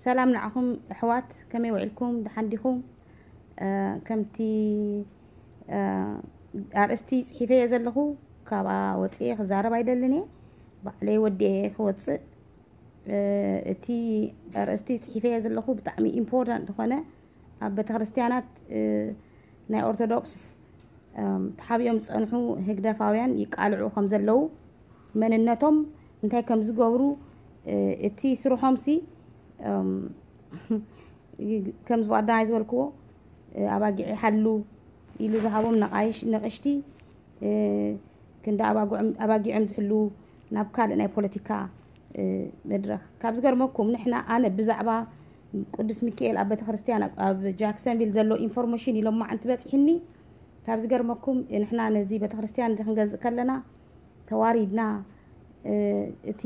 ሰላም ንዓኹም ኣሕዋት፣ ከመይ ውዒልኩም? ደሓን ዲኹም? እ፣ ከምቲ፣ እ፣ ኣርእስቲ ጽሒፈዮ ዘለኹ፣ ካብኣ ወጽኤ ክዛረብ ኣይደልን እየ። ባዕለይ ወዲኤ ክወጽእ። እ፣ እቲ ኣርእስቲ ጽሒፈዮ ዘለኹ ብጣዕሚ ኢምፖርታንት ዝኾነ፣ ኣብ ቤተክርስትያናት፣ እ፣ ናይ ኦርቶዶክስ፣ እም፣ ተሓቢኦም ዝጸንሑ ህግደፋውያን ይቃልዑ ከም ዘለዉ፣ መንነቶም እንታይ ከም ዝገብሩ፣ እ፣ እቲ ስርሖምሲ፣ እም፣ ከም ዝባዳይ ዝበልክዎ፣ እ፣ ኣባጊዕ ይሓሉ ኢሉ ዝሃቦም ነቓይሽ-፣ ነቕሽቲ፣ እ፣ ክንዲ ኣባጉዕም-፣ ኣባጊዖም ዝሕሉ ናብ ካልእ ናይ ፖለቲካ፣ እ፣ መድረኽ። ካብ ዝገርመኩም፣ ንሕና፣ ኣነ ብዛዕባ ቅዱስ ሚካኤል ኣብ ቤተክርስትያን ኣብ፣ ኣብ ጃክሰንቪል ዘሎ ኢንፎርሜሽን ኢሎም ማዓንቲ በጺሕኒ። ካብ ዝገርመኩም፣ ንሕና ነዚ ቤተክርስትያን እዚ ክንገዝእ ከለና ተዋሪድና፣ እ፣ እቲ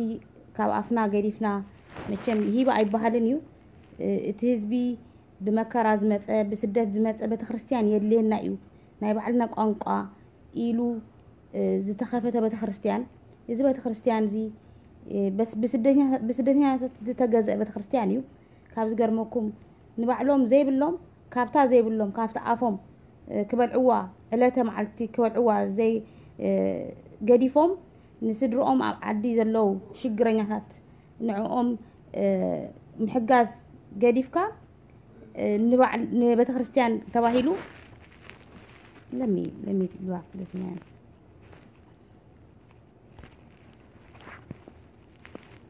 ካብ ኣፍና ገዲፍና፣ መቸም ሂባ ኣይበሃልን እዩ። እ፣ እቲ ህዝቢ ብመከራ ዝመጸ፣ ብስደት ዝመጸ ቤተክርስትያን የድልየና እዩ፣ ናይ ባዕልና ቋንቋ ኢሉ፣ እ፣ ዝተኸፈተ ቤተክርስትያን። እዚ ቤተክርስትያን እዚ፣ እ፣ በስ-፣ ብስደተኛ-፣ ብስደተኛታት ዝተገዝአ ቤተክርስትያን እዩ። ካብ ዝገርመኩም፣ ንባዕሎም ዘይብሎም፣ ካብታ ዘይብሎም፣ ካብቲ ኣፎም፣ እ፣ ክበልዕዋ፣ ዕለተ መዓልቲ ክበልዕዋ ዘይ-፣ እ፣ ገዲፎም፣ ንስድርኦም ኣብ ዓዲ ዘለዉ ሽግረኛታት ንዕኦም፣ እ፣ ምሕጋዝ ገዲፍካ፣ እ፣ ንባዕል-፣ ንቤተክርስትያን ተባሂሉ፣ let me, let me block this man።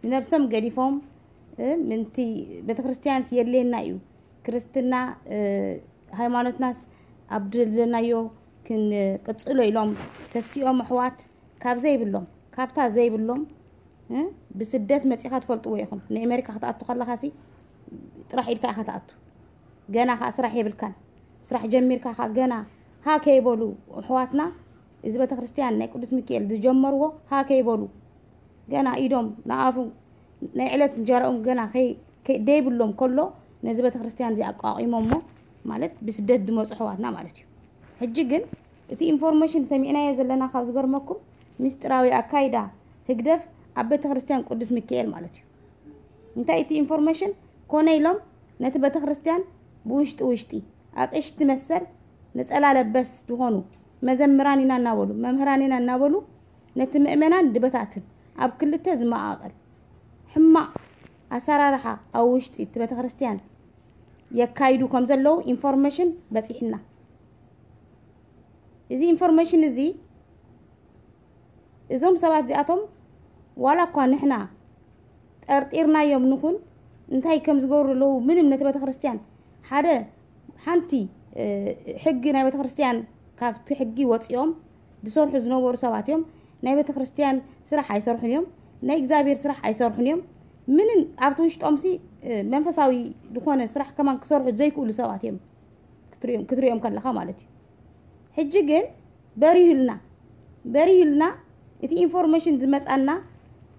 ንነብሶም ገዲፎም፣ እ፣ ምንቲ ቤተክርስትያንስ የድልየና እዩ፣ ክርስትና፣ እ፣ ሃይማኖትናስ ኣብ ደለናዮ ክንቅጽሎ ኢሎም ተሲኦም ኣሕዋት ካብ ዘይብሎም፣ ካብታ ዘይብሎም፣ እ፣ ብስደት መጺኻ ትፈልጥዎ ኢኹም። ንኣሜሪካ ክትኣቱ ከለኻሲ ጥራሕ ኢድካ ኢኻ ትኣቱ። ገና ኸኣ ስራሕ የብልካን። ስራሕ ጀሚርካ ኸኣ ገና ሃ ከይበሉ ኣሕዋትና፣ እዚ ቤተክርስትያን ናይ ቅዱስ ሚካኤል ዝጀመርዎ ሃ ከይበሉ፣ ገና ኢዶም ንኣፉ ናይ ዕለት እንጀራኦም ገና ከይ-፣ ከይ-፣ ደይብሎም ከሎ፣ ነዚ ቤተክርስትያን እዚ ኣቋቒሞሞ፣ ማለት ብስደት ዝመጹ ኣሕዋትና ማለት እዩ። ሕጂ ግን እቲ ኢንፎርሜሽን ሰሚዕናዮ ዘለና፣ ካብ ዝገርመኩም፣ ምስጢራዊ ኣካይዳ ህግደፍ ኣብ ቤተክርስትያን ቅዱስ ሚካኤል ማለት እዩ። እንታይ እቲ ኢንፎርሜሽን? ኮነ ኢሎም ነቲ ቤተክርስትያን ብውሽጢ ውሽጢ፣ ኣቕሽቲ መሰል፣ ነጸላ ለበስ ዝኾኑ መዘምራን ኢና እናበሉ፣ መምህራን ኢና እናበሉ፣ ነቲ ምእመናን ድበታትን፣ ኣብ ክልተ ዝመቓቐል ሕማቕ ኣሰራርሓ ኣብ ውሽጢ እቲ ቤተክርስትያን የካይዱ ከም ዘለዉ ኢንፎርሜሽን በጺሕና። እዚ ኢንፎርሜሽን እዚ፣ እዞም ሰባት እዚኣቶም ዋላ እኳ ንሕና ጠርጢርናዮም ንኹን፣ እንታይ ከም ዝገብሩ ኣለዉ፣ ምንም ነቲ ቤተክርስትያን ሓደ፣ ሓንቲ፣ እ፣ ሕጊ ናይ ቤተክርስትያን፣ ካብቲ ሕጊ ወጺኦም ዝሰርሑ ዝነበሩ ሰባት እዮም። ናይ ቤተክርስትያን ስራሕ ኣይሰርሑን እዮም። ናይ እግዚኣብሔር ስራሕ ኣይሰርሑን እዮም። ምንም ኣብቲ ውሽጦምሲ፣ እ፣ መንፈሳዊ ዝኾነ ስራሕ ከማን ክሰርሑ ዘይክእሉ ሰባት እዮም። ክትሪኦም፣ ክትሪኦም ከለኻ ማለት እዩ። ሕጂ ግን በሪሁልና፣ በሪሁልና፣ እቲ ኢንፎርሜሽን ዝመጻና፣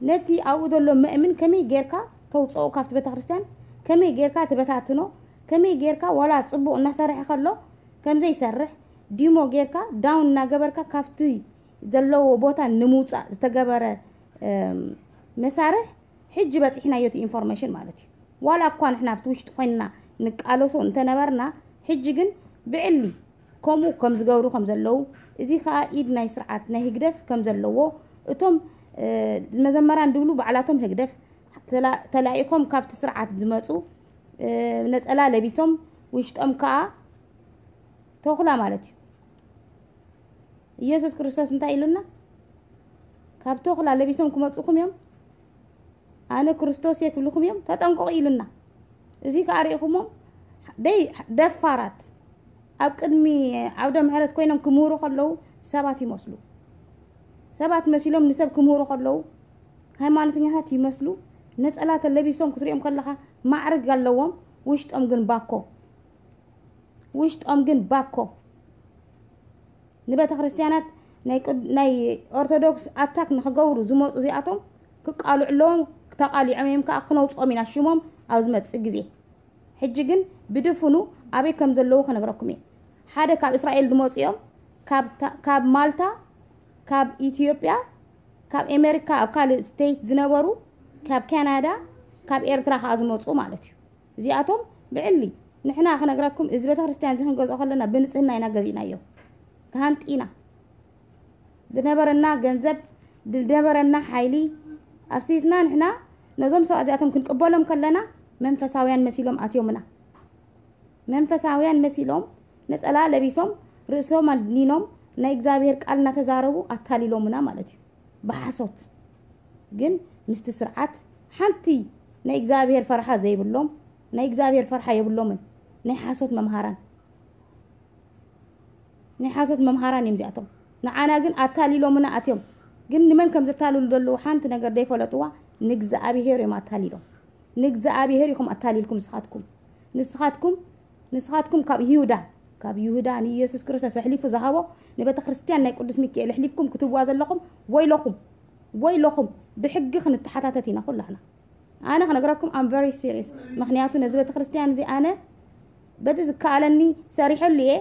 ነቲ ኣብኡ ዘሎ መእምን ከመይ ጌርካ ተውጽኦ ካብቲ ቤተክርስትያን፣ ከመይ ጌርካ ትበታትኖ፣ ከመይ ጌርካ ዋላ ጽቡቕ እናሰርሐ ከሎ ከም ዘይሰርሕ፣ ዲሞ ጌርካ፣ ዳውን እናገበርካ፣ ካብቲ ዘለዎ ቦታ ንምውጻእ ዝተገበረ፣ እም፣ መሳርሕ፣ ሕጂ በጺሕናዮ እቲ ኢንፎርሜሽን ማለት እዩ። ዋላ እኳ ንሕና ኣብቲ ውሽጢ ኮይንና ንቃለሶ እንተነበርና፣ ሕጂ ግን ብዕሊ ከምኡ ከም ዝገብሩ ከም ዘለዉ፣ እዚ ኸኣ ኢድ ናይ ስርዓት ናይ ህግደፍ ከም ዘለዎ፣ እቶም፣ እ፣ መዘመራን ድብሉ ባዕላቶም ህግደፍ ተላ-፣ ተላኢኾም ካብቲ ስርዓት ዝመጹ፣ እ፣ ነጸላ ለቢሶም፣ ውሽጦም ከኣ ተኹላ ማለት እዩ። ኢየሱስ ክርስቶስ እንታይ ኢሉና? ካብ ተኹላ ለቢሶም ክመጹኹም እዮም፣ ኣነ ክርስቶስ እየ ክብልኹም እዮም፣ ተጠንቀቑ ኢሉና። እዚ ከኣ ርኢኹሞም፣ ደይ-፣ ደፋራት ኣብ ቅድሚ ዓውደ ምሕረት ኮይኖም ክምህሩ ከለዉ ሰባት ይመስሉ። ሰባት መሲሎም ንሰብ ክምህሩ ከለዉ ሃይማኖተኛታት ይመስሉ። ነጸላ ተለቢሶም ክትሪኦም ከለኻ ማዕርግ ኣለዎም፣ ውሽጦም ግን ባኮ። ውሽጦም ግን ባኮ። ንቤተ ክርስቲያናት ናይ ቅድ-፣ ናይ ኦርቶዶክስ ኣታክ ንኽገብሩ ዝመጹ እዚኣቶም ክቃልዑ ኣለዎም። ተቃሊዖም እዮም ከኣ ክነውጽኦም ኢና ሽሞም ኣብ ዝመጽእ ግዜ። ሕጂ ግን ብድፍኑ ኣበይ ከም ዘለዉ ክነግረኩም እየ። ሓደ ካብ እስራኤል ዝመጹ እዮም፣ ካብ ታ-፣ ካብ ማልታ፣ ካብ ኢትዮጵያ፣ ካብ ኣሜሪካ፣ ኣብ ካልእ ስቴት ዝነበሩ፣ ካብ ካናዳ፣ ካብ ኤርትራ ከኣ ዝመጹ ማለት እዩ። እዚኣቶም ብዕሊ ንሕና ክነግረኩም፣ እዚ ቤተክርስትያን እዚ ክንገዝኦ ከለና ብንጽህና ኢና ገዚእናዮ። ተሃንጢና ዝነበረና ገንዘብ፣ ዝነበረና ሓይሊ ኣፍሲስና ንሕና ነዞም ሰባት እዚኣቶም ክንቅበሎም ከለና መንፈሳውያን መሲሎም ኣትዮምና። መንፈሳውያን መሲሎም ነጸላ ለቢሶም ርእሶም ኣድኒኖም ናይ እግዚኣብሔር ቃል እናተዛረቡ ኣታሊሎምና ማለት እዩ። ብሓሶት ግን ምስቲ ስርዓት ሓንቲ ናይ እግዚኣብሔር ፈርሓ ዘይብሎም፣ ናይ እግዚኣብሔር ፈርሓ የብሎምን። ናይ ሓሶት መምሃራን ናይ ሓሶት መምሃራን እዮም እዚኣቶም። ንዓና ግን ኣታሊሎምና ኣትዮም። ግን ንመን ከም ዘታልሉ ዘለዉ ሓንቲ ነገር ዘይፈለጥዋ ንእግዚኣብሔር እዮም ኣታሊሎም። ንእግዚኣብሔር ኢኹም ኣታሊልኩም ንስኻትኩም። ንስኻትኩም ንስኻትኩም ካብ ይሁዳ ካብ ይሁዳ ንኢየሱስ ክርስቶስ ኣሕሊፉ ዝሃቦ ንቤተ ክርስቲያን ናይ ቅዱስ ሚካኤል ኣሕሊፍኩም ክትዋ ዘለኹም ወይለኹም። ወይለኹም። ብሕጊ ክንተሓታተት ኢና ኩላህና። ኣነ ክነግረኩም I'm very serious። ምክንያቱ ነዚ ቤተ ክርስቲያን እዚ ኣነ በቲ ዝከኣለኒ ሰሪሐሉ እየ።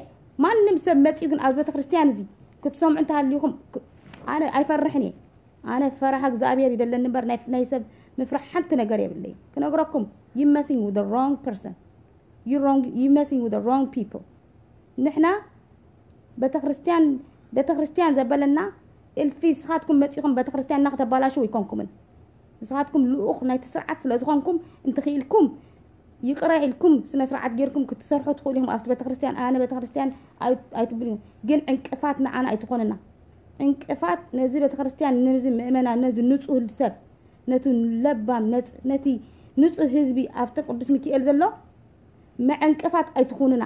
ማንም ሰብ መፂኡ ግን ኣብዚ ቤተ ክርስቲያን እዚ ክትሰምዑ እንተሃልዩኹም ክ- ኣነ ኣይፈርሕን እየ። ኣነ ፈራሃ እግዚኣብሔር ይደለኒ እምበር ናይ ናይ ሰብ ምፍራሕ ሓንቲ ነገር የብለይ። ክነግረኩም you messing with the wrong person። You wrong you messing with the wrong people። ንሕና ቤተክርስትያን ቤተክርስትያን ዘበለና እልፊ ንስኻትኩም መፂኹም ቤተክርስትያንና ከተባላሽው ኣይኮንኩምን። ንስኻትኩም ልኡኽ ናይቲ ስርዓት ስለ ዝኾንኩም እንትኽኢልኩም ይቕረ ኢልኩም ስነ ስርዓት ጌርኩም ክትሰርሑ ትኽእሉ ኢኹም ኣብቲ ቤተክርስትያን። ኣነ ቤተክርስትያን ኣይ- ኣይትብሉ ግን ዕንቅፋት ንዓና ኣይትኾንና። ዕንቅፋት ነዚ ቤተክርስትያን ነዚ ምእመናን ነዚ ንጹህ ሰብ ነቲ ለባም ነጽ- ነቲ ንጹህ ህዝቢ ኣብቲ ቅዱስ ሚካኤል ዘሎ መዕንቅፋት ኣይትኹንና።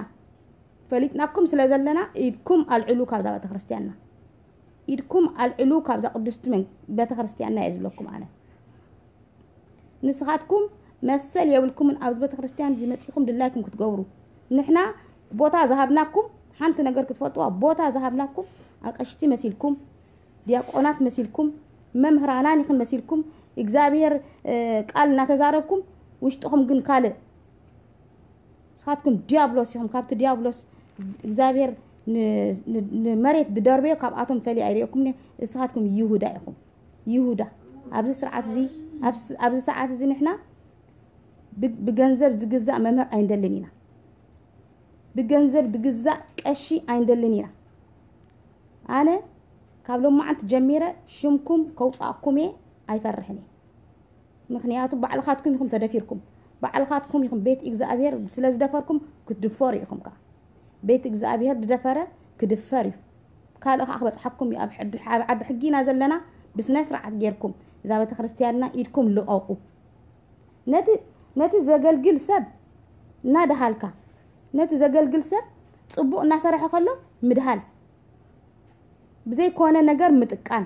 ፈሊጥናኩም ስለ ዘለና ኢድኩም ኣልዕሉ ካብዛ ቤተክርስትያንና። ኢድኩም ኣልዕሉ ካብዛ ቅዱስቲ መን- ቤተክርስትያንና እየ ዝብለኩም ኣነ። ንስኻትኩም መሰል የብልኩምን ኣብዚ ቤተክርስትያን እዚ መጺኹም ድላይኩም ክትገብሩ። ንሕና ቦታ ዝሃብናኩም ሓንቲ ነገር ክትፈልጥዋ ቦታ ዝሃብናኩም ኣቀሽቲ መሲልኩም ዲያቆናት መሲልኩም መምህራናን ይኽን መሲልኩም እግዚኣብሔር እ፣ ቃል እናተዛረብኩም ውሽጥኹም ግን ካልእ ንስኻትኩም ዲያብሎስ ኢኹም። ካብቲ ዲያብሎስ እግዚኣብሔር ን- ን- ንመሬት ዝደርበዮ ካብኣቶም ፈሊ ኣይርእየኩም። ንስኻትኩም ይሁዳ ኢኹም። ይሁዳ ኣብዚ ስርዓት እዚ ኣብዚ- ኣብዚ ሰዓት እዚ ንሕና ብ- ብገንዘብ ዝግዛእ መምህር ኣይንደልን ኢና። ብገንዘብ ዝግዛእ ቀሺ ኣይንደልን ኢና። ኣነ ካብ ሎማዓንቲ ጀሚረ ሽምኩም ከውፃእኩም እየ ኣይፈርሕን እየ። ምክንያቱ ባዕልኻትኩም ኢኹም ተደፊርኩም። ባዕልኻትኩም ኢኹም ቤት እግዚኣብሔር ስለ ዝደፈርኩም ክትድፈሩ ኢኹም። ከዓ ቤት እግዚኣብሔር ዝደፈረ ክድፈር እዩ። ካልእ ከዓ ክበፅሓኩም እዩ። ኣብ ሕድ- ኣብ ዓዲ ሕጊ ኢና ዘለና። ብስነ ስርዓት ጌርኩም እዛ ቤተክርስትያንና ኢድኩም ልቐቑ። ነቲ ነቲ ዘገልግል ሰብ እናደሃልካ ነቲ ዘገልግል ሰብ ፅቡቕ እናሰረሐ ከሎ ምድሃል ብዘይኮነ ነገር ምጥቃን።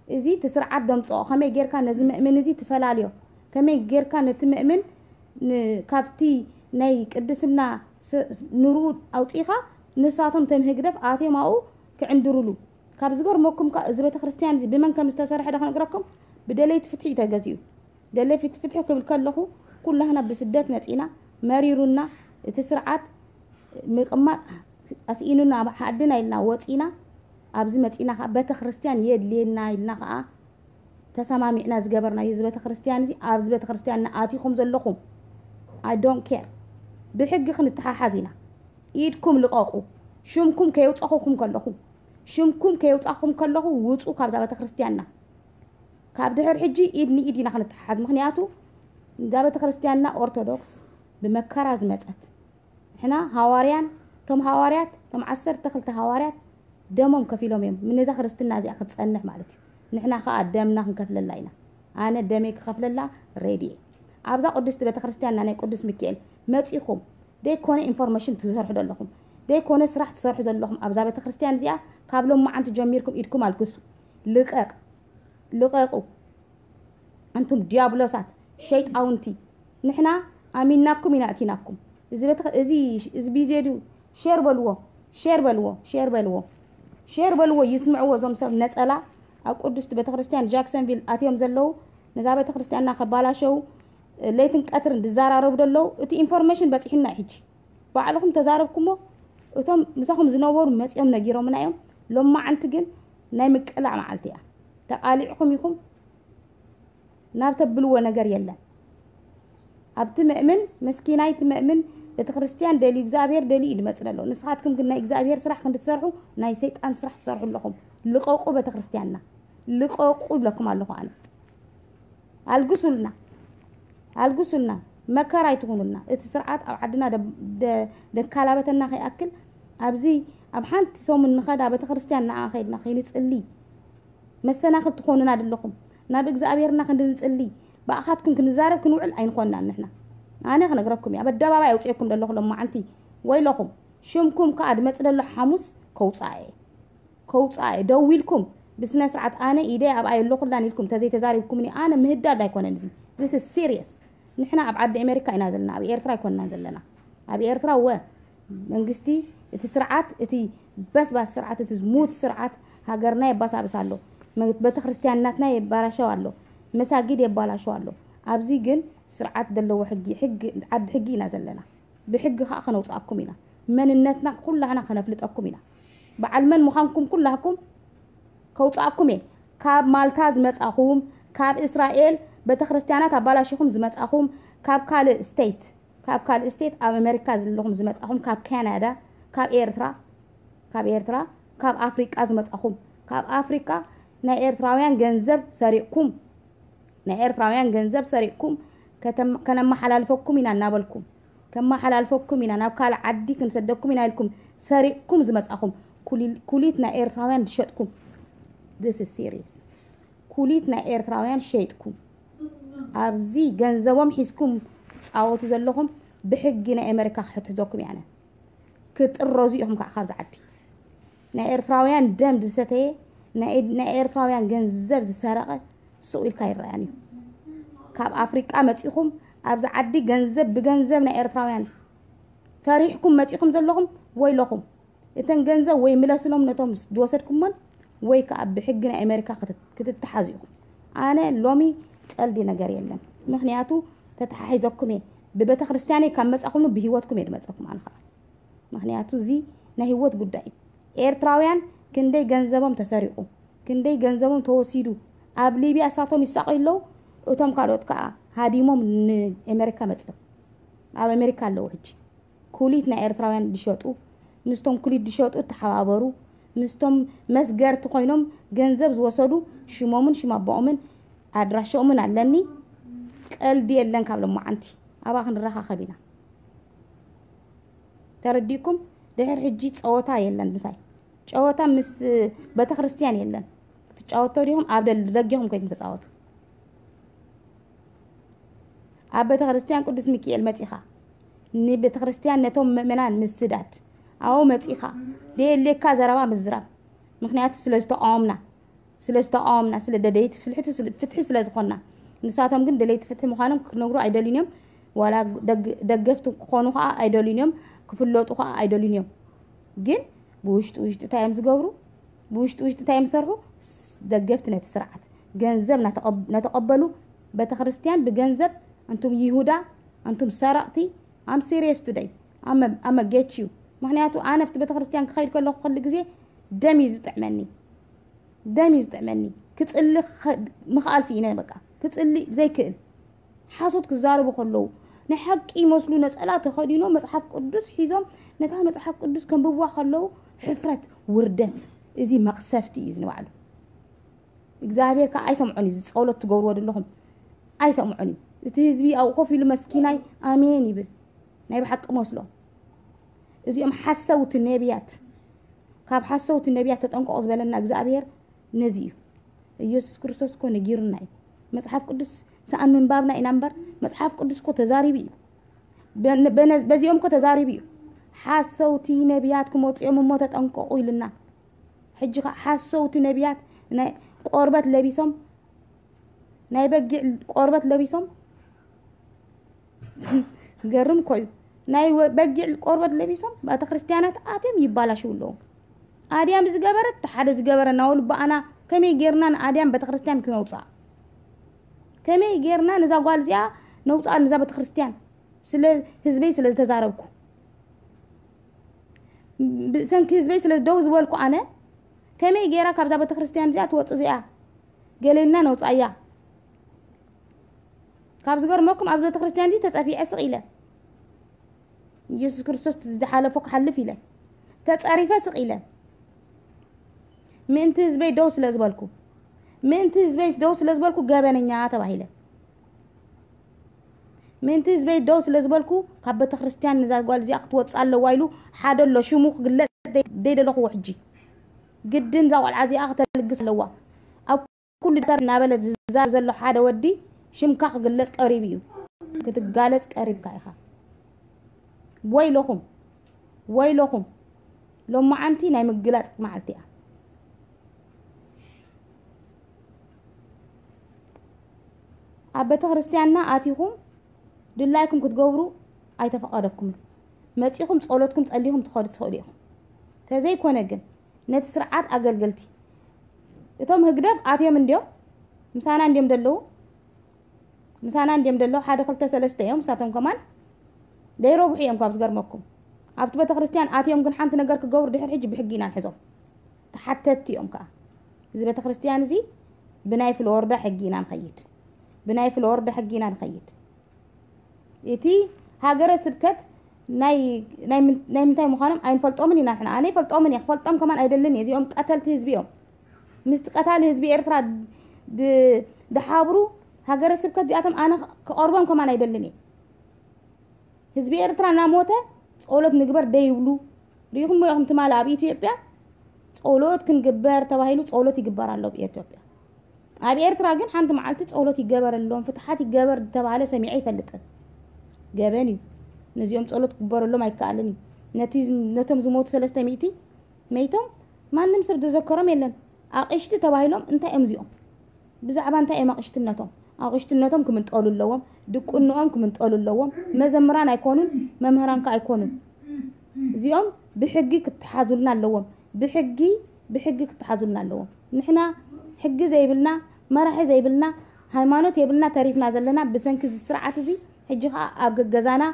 እዚ እቲ ስርዓት ዘምፅኦ ከመይ ጌርካ ነዚ ምእምን እዚ ትፈላልዮ? ከመይ ጌርካ ነቲ ምእምን ን- ካብቲ ናይ ቅድስና ስ- ኑርኡ ኣውፂእኻ ንሳቶም ተምህግደፍ ኣትዮም ኣብኡ ክዕንድሩሉ። ካብ ዝገርመኩም ከ እዚ ቤተክርስትያን እዚ ብመን ከም ዝተሰርሐ ዶ ክነግረኩም? ብደለይቲ ፍትሒ እዩ ተገዚኡ። ደለይቲ ፍትሒ ክብል ከለኹ ኩላህና ብስደት መፂና መሪሩና እቲ ስርዓት ምቕማጥ ኣስኢኑና ዓድና ኢልና ወፂና ኣብዚ መፂና ከዓ ቤተክርስትያን የድልየና ኢልና ከዓ ተሰማሚዕና ዝገበርናዮ እዚ ቤተክርስትያን እዚ ኣብዚ ቤተክርስትያን ንኣቲኹም ዘለኹም I don't care ብሕጊ ክንተሓሓዝ ኢና። ኢድኩም ልቐቑ። ሽምኩም ከየውፃኹኩም ከለኹ ሽምኩም ከየውፃኹም ከለኹ ውፁ ካብዛ ቤተክርስትያንና። ካብ ድሕር ሕጂ ኢድ ንኢድ ኢና ክንተሓሓዝ። ምክንያቱ እዛ ቤተክርስትያንና ኦርቶዶክስ ብመከራ ዝመፀት ንሕና ሃዋርያን እቶም ሃዋርያት እቶም ዓሰርተ ክልተ ሃዋርያት ደሞም ከፊሎም እዮም ነዛ ክርስትና እዚኣ ክትፀንሕ ማለት እዩ። ንሕና ከዓ ደምና ክንከፍለላ ኢና። ኣነ ደመይ ክኸፍለላ ሬዲ እየ። ኣብዛ ቅድስቲ ቤተክርስትያንና ናይ ቅዱስ ሚካኤል መፂኹም ደይኮነ ኢንፎርሜሽን ትሰርሑ ዘለኹም ደይኮነ ስራሕ ትሰርሑ ዘለኹም ኣብዛ ቤተክርስትያን እዚኣ ካብ ሎማዓንቲ ጀሚርኩም ኢድኩም ኣልግሱ። ልቀቕ ልቐቁ። ኣንቱም ዲያብሎሳት ሸይጣውንቲ ንሕና ኣሚንናኩም ኢና እቲናኩም። እዚ ቤተ- እዚ እዚ ቪድዮ ድዩ ሼር በልዎ ሼር በልዎ ሼር በልዎ ሼር በልዎ ይስምዕዎ እዞም ሰብ ነፀላ ኣብ ቅዱስቲ ቤተክርስትያን ጃክሰንቪል ኣትዮም ዘለዉ ነዛ ቤተክርስትያንና ከባላሸው ለይትን ቀትርን ዝዘራረቡ ዘለዉ እቲ ኢንፎርሜሽን በፂሕና ሕጂ ባዕልኹም ተዛረብኩሞ እቶም ምሳኹም ዝነበሩ መፂኦም ነጊሮምና እዮም። ሎማዓንቲ ግን ናይ ምቅላዕ መዓልቲ እያ። ተቃሊዕኹም ኢኹም ናብ ተብልዎ ነገር የለን። ኣብቲ መእምን መስኪናይ፣ እቲ መእምን ቤተክርስትያን ደልዩ እግዚኣብሔር ደልዩ እዩ ዝመጽእ ዘሎ። ንስኻትኩም ግን ናይ እግዚኣብሔር ስራሕ ክንዲ ትሰርሑ ናይ ሰይጣን ስራሕ ትሰርሑ ኣለኹም። ልቐቁ ቤተክርስትያንና፣ ልቐቁ ይብለኩም ኣለኹ ኣነ። ኣልግሱልና፣ ኣልግሱልና፣ መከራ ኣይትኹኑልና። እቲ ስርዓት ኣብ ዓድና ደ- ደ- ደካላበተና ከይኣክል ኣብዚ ኣብ ሓንቲ ሰሙን ንኸዳ ቤተክርስትያን ንዓ ከይድና ከይንጽሊ መሰናኽል ትኾኑና ደለኹም። ናብ እግዚኣብሔርና ክንዲ ንጽሊ ብኣኻትኩም ክንዛረብ ክንውዕል ኣይንኾንናን ንሕና። ኣነ ክነግረኩም እየ፣ ኣብ ኣደባባይ ኣውፅኤኩም ደለኹ ሎማዓንቲ። ወይለኹም፣ ሽምኩም ከኣ ድመጽእ ደሎ ሓሙስ ከውፅኣ እየ። ከውፅኣ እየ። ደው ኢልኩም ብስነ ስርዓት ኣነ ኢደ ኣብኣ የለኹላን ኢልኩም ተዘይተዛሪብኩምኒ ኣነ ምህዳድ ኣይኮነን። እዚ this is serious። ንሕና ኣብ ዓዲ ኣሜሪካ ኢና ዘለና፣ ኣብ ኤርትራ ኣይኮንናን ዘለና። ኣብ ኤርትራ ወ መንግስቲ እቲ ስርዓት፣ እቲ በስባስ ስርዓት፣ እቲ ዝሙት ስርዓት ሃገርና የባሳብስ ኣሎ። መ- ቤተክርስትያናትና የባላሸው ኣሎ። መሳጊድ የባላሸው ኣሎ። ኣብዚ ግን ስርዓት ዘለዎ ሕጊ፣ ሕጊ ዓዲ ሕጊ ኢና ዘለና። ብሕጊ ከዓ ከነውፅኣኩም ኢና። መንነትና ኩላህና ከነፍልጠኩም ኢና። በዓል መን ምዃንኩም ኩላህኩም ከውፅኣኩም እየ። ካብ ማልታ ዝመፃኹም፣ ካብ እስራኤል ቤተክርስትያናት ኣባላሽኹም ዝመፃኹም፣ ካብ ካልእ ስቴት፣ ካብ ካልእ ስቴት ኣብ ኣሜሪካ ዘለኹም ዝመፃኹም፣ ካብ ካናዳ፣ ካብ ኤርትራ፣ ካብ ኤርትራ፣ ካብ ኣፍሪቃ ዝመፃኹም፣ ካብ ኣፍሪቃ ናይ ኤርትራውያን ገንዘብ ሰሪቕኩም፣ ናይ ኤርትራውያን ገንዘብ ሰሪቕኩም ከተም- ከነመሓላልፈኩም ኢና እናበልኩም፣ ከመሓላልፈኩም ኢና፣ ናብ ካልእ ዓዲ ክንሰደኩም ኢና ኢልኩም ሰሪቕኩም ዝመፃኹም፣ ኩሊል- ኩሊት ናይ ኤርትራውያን ዝሸጥኩም። This is serious። ኩሊት ናይ ኤርትራውያን ሸይጥኩም ኣብዚ ገንዘቦም ሒዝኩም ትፃወቱ ዘለኹም ብሕጊ ናይ ኣሜሪካ ክሕትሕዘኩም እየ ኣነ። ክትጥረዙ ኢኹም ከዓ ካብዚ ዓዲ። ናይ ኤርትራውያን ደም ዝሰተየ፣ ናይ ናይ ኤርትራውያን ገንዘብ ዝሰረቐ ስቕ ኢልካ ይረኣን እዩ። ካብ ኣፍሪቃ መፂኹም ኣብዚ ዓዲ ገንዘብ ብገንዘብ ናይ ኤርትራውያን ፈሪሕኩም መፂኹም ዘለኹም ወይለኹም። እተን ገንዘብ ወይ ምለስሎም ነቶም ዝወሰድኩሞን ወይ ከዓ ብሕጊ ናይ ኣሜሪካ ክትት- ክትተሓዙ ኢኹም። ኣነ ሎሚ ቀልዲ ነገር የለን። ምኽንያቱ ተተሓሒዘኩም እየ። ብቤተ ክርስቲያነይ ካብ መፃኹም ብህይወትኩም እየ ድመፀኩም ኣነ ከዓ። ምኽንያቱ እዚ ናይ ህይወት ጉዳይ እዩ። ኤርትራውያን ክንደይ ገንዘቦም ተሰሪቑ፣ ክንደይ ገንዘቦም ተወሲዱ፣ ኣብ ሊብያ እሳቶም ይሳቐዩ ኣለዉ፣ እቶም ካልኦት ከዓ ሃዲሞም ንኣሜሪካ መፅዮም ኣብ ኣሜሪካ ኣለዉ። ሕጂ ኩሊት ናይ ኤርትራውያን ዝሸጡ ምስቶም ኩሊት ዝሸጡ እተሓባበሩ ምስቶም መስገርቲ ኮይኖም ገንዘብ ዝወሰዱ ሽሞምን ሽም ኣቦኦምን ኣድራሻኦምን ኣለኒ። ቀልዲ የለን። ካብ ሎማዓንቲ ኣብኣ ክንረኻኸብ ኢና። ተረዲእኩም? ድሕር ሕጂ ፀወታ የለን ምሳይ። ጨወታ ምስ ቤተክርስትያን የለን። ክትጫወቶ ዲኹም ኣብ ደል- ደጊኹም ኮይንኩም ተፃወቱ። ኣብ ቤተክርስትያን ቅዱስ ሚካኤል መፂኻ ንቤተክርስትያን ነቶም ምእመናን ምስዳድ ኣብኡ መፂኻ ደየሌካ ዘረባ ምዝራብ። ምክንያቱ ስለ ዝተቃወምና ስለ ዝተቃወምና ስለ ደለይቲ ፍትሒ ስለ ዝኾንና ንሳቶም ግን ደለይቲ ፍትሒ ምዃኖም ክነግሩ ኣይደልዩን እዮም። ዋላ ደግ- ደገፍቲ ክኾኑ ከዓ ኣይደልዩን እዮም። ክፍለጡ ከዓ ኣይደልዩን እዮም። ግን ብውሽጢ ውሽጢ እንታይ እዮም ዝገብሩ? ብውሽጢ ውሽጢ እንታይ እዮም ዝሰርሑ? ደገፍቲ ነቲ ስርዓት ገንዘብ ናተቐብ- ነተቐበሉ ቤተክርስትያን ብገንዘብ ኣንቱም ይሁዳ ኣንቱም ሰረቕቲ። I'm serious today። I'm a get you። ምክንያቱ ኣነ ኣብቲ ቤተክርስትያን ክኸይድ ከለኹ ኩሉ ግዜ ደም እዩ ዝጥዕመኒ። ደም እዩ ዝጥዕመኒ። ክፅሊ ምኽኣል ስኢነ በቃ። ክፅሊ ዘይክእል ሓሶት ክዛረቡ ከለዉ ናይ ሓቂ ይመስሉ ነፀላ ተኸዲኖም መፅሓፍ ቅዱስ ሒዞም ነታ መፅሓፍ ቅዱስ ከንብብዋ ከለዉ ሕፍረት ውርደት። እዚ መቕሰፍቲ እዩ ዝንባዕሉ። እግዚኣብሔር ከዓ ኣይሰምዖን እዩ። ዝፀሎት ትገብርዎ ዘለኹም ኣይሰምዖን እዩ። እቲ ህዝቢ ኣብኡ ኮፍ ኢሉ መስኪናይ ኣሜን ይብል። ናይ ብሓቂ መስሎ። እዚኦም ሓሰውቲ ነቢያት ካብ ሓሰውቲ ነቢያት ተጠንቀቑ ዝበለና እግዚኣብሔር ነዚ እዩ። ኢየሱስ ክርስቶስ እኮ ነጊሩና እዩ። መፅሓፍ ቅዱስ ሰኣን ምንባብና ኢና እምበር መፅሓፍ ቅዱስ እኮ ተዛሪቡ እዩ። በነ- በነ- በዚኦም እኮ ተዛሪቡ እዩ። ሓሰውቲ ነቢያት ክመፁ እዮም እሞ ተጠንቀቑ ኢሉና። ሕጂ ከዓ ሓሰውቲ ነቢያት ናይ ቆርበት ለቢሶም ናይ በጊዕ ቆርበት ለቢሶም ገርም ኮዩ ናይ ወ- በጊዕ ቆርበት ለቢሶም ቤተ ክርስቲያናት ኣትዮም ይባላሽው ኣለዉ። ኣድያም ዝገበረት ሓደ ዝገበረ እናበሉ ብኣና ከመይ ጌርና ንኣድያም ቤተ ክርስቲያን ክነውፅኣ ከመይ ጌርና ነዛ ጓል እዚኣ ነውፅኣ ነዛ ቤተ ክርስቲያን ስለ ህዝበይ ስለ ዝተዛረብኩ ብሰንኪ ህዝበይ ስለ ደው ዝበልኩ ኣነ ከመይ ጌራ ካብዛ ቤተ ክርስቲያን እዚኣ ትወፅእ እዚኣ ገሌልና ነውፃያ ካብ ዝገርመኩም፣ ኣብ ቤተክርስትያን እዚ ተጸፊዐ ስቕ ኢለ፣ ኢየሱስ ክርስቶስ ዝሓለፎ ክሓልፍ ኢለ፣ ተጸሪፈ ስቕ ኢለ፣ ምእንቲ ህዝበይ ደው ስለ ዝበልኩ፣ ምእንቲ ህዝበይ ደው ስለ ዝበልኩ ገበነኛ ተባሂለ። ምእንቲ ህዝበይ ደው ስለ ዝበልኩ፣ ካብ ቤተክርስትያን ንዛ ጓል እዚኣ ክትወጽእ ኣለዋ ኢሉ ሓደ ኣሎ፣ ሽሙ ክግለጽ ደይ-፣ ደይደለኹዎ። ሕጂ ግድን እዛ ቆልዓ እዚኣ ክተልግስ ኣለዋ። ኣብ ኩሉ ደብተር እናበለ ዝዛረብ ዘሎ ሓደ ወዲ፣ ሽምካ ክግለጽ ቀሪቡ እዩ። ክትጋለጽ ቀሪብካ ኢኻ። ወይለኹም፣ ወይለኹም። ሎማዓንቲ ናይ ምግላጽ መዓልቲ እያ። ኣብ ቤተክርስትያንና ኣቲኹም ድላይኩም ክትገብሩ ኣይተፈቐደኩምን። መጺኹም ጸሎትኩም ጸሊኹም ትኸዱ ትኽእሉ ኢኹም። ተዘይኮነ ግን፣ ነቲ ስርዓት ኣገልገልቲ፣ እቶም ህግደፍ ኣትዮም እንድዮም፣ ምሳና እንድዮም ዘለዉ፣ ምሳና እንድዮም ዘለዉ፣ ሓደ ክልተ ሰለስተ እዮም፣ ንሳቶም ከማን ዘይረብሑ እዮም ካብ ዝገርመኩም። ኣብቲ ቤተክርስትያን ኣትዮም ግን ሓንቲ ነገር ክገብሩ ድሕሪ ሕጂ ብሕጊ ኢና ንሕዞም። ተሓተትቲ እዮም ከኣ። እዚ ቤተክርስትያን እዚ ብናይ ፍሎርዳ ሕጊ ኢና ንኸይድ። ብናይ ፍሎርዳ ሕጊ ኢና ንኸይድ። እቲ ሃገረ ስብከት ናይ፣ ናይ ምን-፣ ናይ ምንታይ ምዃኖም ኣይንፈልጦምን ኢና ንሕና። ኣነ ይፈልጦምን እየ፣ ክፈልጦም ከማን ኣይደልን እየ። እዚኦም ቀተልቲ ህዝቢ እዮም። ምስቲ ቀታሊ ህዝቢ ኤርትራ ድ-፣ ድሓብሩ ሃገረ ስብከት እዚኣቶም ኣነ ክቐርቦም ከማን ኣይደልን እየ። ህዝቢ ኤርትራ እናሞተ ጸሎት ንግበር ደይብሉ። ርኢኹምዎ ኢኹም ትማሊ ኣብ ኢትዮጵያ ጸሎት ክንግበር ተባሂሉ ጸሎት ይግበር ኣሎ ኣብ ኢትዮጵያ። ኣብ ኤርትራ ግን ሓንቲ መዓልቲ ጸሎት ይገበረሎም፣ ፍትሓት ይገበር ዝተባህለ ሰሚዐ ኣይፈልጥን። ገበን እዩ። ነዚኦም ጸሎት ክግበረሎም ኣይከኣልን እዩ። ነቲ፣ ነቶም ዝሞቱ ሰለስተ ሚእቲ መይቶም ማንም ሰብ ዝዘከሮም የለን። ኣቕሽቲ ተባሂሎም እንታይ እዮም እዚኦም? ብዛዕባ እንታይ እዮም ኣቕሽትነቶም? ኣቕሽትነቶም ክምንጠሉ ኣለዎም፣ ድቁንኦም ክምንጠሉ ኣለዎም። መዘምራን ኣይኮኑን፣ መምህራን ከ ኣይኮኑን። እዚኦም ብሕጊ ክተሓዙልና ኣለዎም። ብሕጊ፣ ብሕጊ ክተሓዙልና ኣለዎም። ንሕና ሕጊ ዘይብልና፣ መራሒ ዘይብልና፣ ሃይማኖት የብልና ተሪፍና ዘለና ብሰንኪ እዚ ስርዓት እዚ። ሕጂ ኸኣ ኣብ ገገዛና፣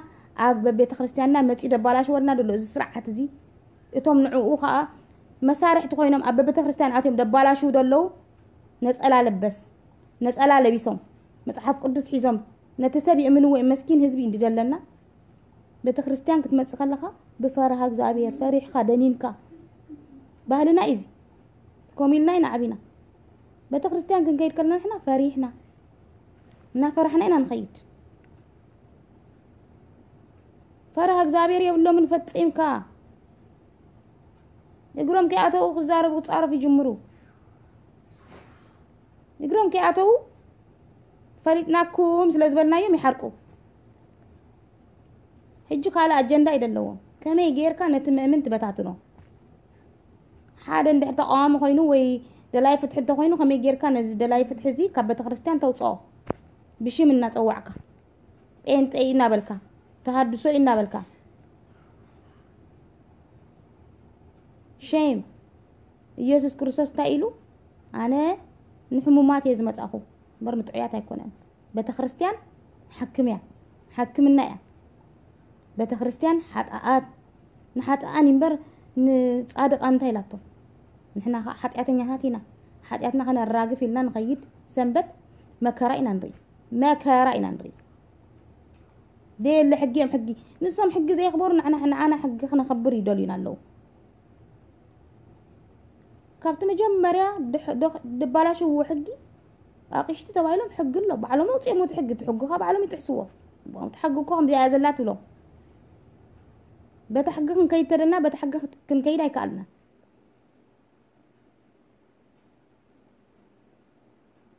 ኣብ ቤተክርስትያንና መጺኡ ደባላሽወልና ደሎ እዚ ስርዓት እዚ። እቶም ንዕኡ ኸኣ መሳርሕቲ ኮይኖም ኣብ ቤተክርስትያን ኣትዮም ደባላሽዉ ደለዉ፣ ነጸላ ለበስ፣ ነጸላ ለቢሶም፣ መጽሓፍ ቅዱስ ሒዞም፣ ነቲ ሰብ ይእምንዎ እዩ፣ መስኪን ህዝቢ እንዲ ደለና። ቤተክርስትያን ክትመጽእ ከለኻ ብፈርሃ እግዚኣብሔር ፈሪሕካ ደኒንካ። ባህልና እዩ እዚ። ከምኡ ኢልና ኢና ዓቢና። ቤተክርስትያን ክንከይድ ከለና ንሕና ፈሪሕና፣ እናፈራሕና ኢና ንኸይድ። ፈርሃ እግዚኣብሔር የብሎምን ፈጺምካ። እግሮም ከይኣተዉ ክዛረቡ ክጻረፉ ይጅምሩ። እግሮም ከይኣተዉ ፈሊጥናኩም ስለ ዝበልናዮም ይሓርቁ። ሕጂ ካልእ ኣጀንዳ እዩ ዘለዎም። ከመይ ጌርካ ነቲ ምእምን ትበታትኖ? ሓደ እንድሕር ተቃዋሚ ኮይኑ ወይ ደላይ ፍትሒ እንተኮይኑ፣ ከመይ ጌርካ ነዚ ደላይ ፍትሒ እዚ ካብ ቤተክርስትያን ተውፅኦ? ብሽም እናጸዋዕካ፣ ጴንጤ እዩ እናበልካ፣ ተሃድሶ እዩ እናበልካ። ሼም። ኢየሱስ ክርስቶስ እንታይ ኢሉ? ኣነ ንሕሙማት እየ ዝመጻኹ እምበር ንጥዑያት ኣይኮነን። ቤተክርስትያን ሓክም እያ፣ ሓክምና እያ። ቤተክርስትያን ሓጥኣት፣ ንሓጥኣን እምበር ንጻድቃን እንታይ ኢላቶ? ንሕና ኸዓ ሓጢኣተኛታት ኢና። ሓጢኣትና ከነራግፍ ኢልና ንኸይድ ሰንበት መከራ ኢና ንርኢ፣ መከራ ኢና ንርኢ። ደየለ ሕጊ እዮም ሕጊ። ንሶም ሕጊ ዘየኽበሩ ንሕና፣ ንዓና ሕጊ ክነኽብር ይደልዩና ኣለዉ። ካብቲ መጀመርያ ድሕ-፣ ዶ-፣ ድባላሽዎ ሕጊ ኣቕሽቲ ተባሂሎም ሕጊ ኣሎ። ባዕሎም ኣውፅኦም እቲ ሕጊ፣ እቲ ሕጊ ኸዓ ባዕሎም ይጥሕስዎ። እቲ ሕጊ እኮ ከምዚኣ እያ ዘላ ትብሎም። በታ ሕጊ ክንከይድ ተደልና፣ በታ ሕጊ ክት-፣ ክንከይድ ኣይከኣልና።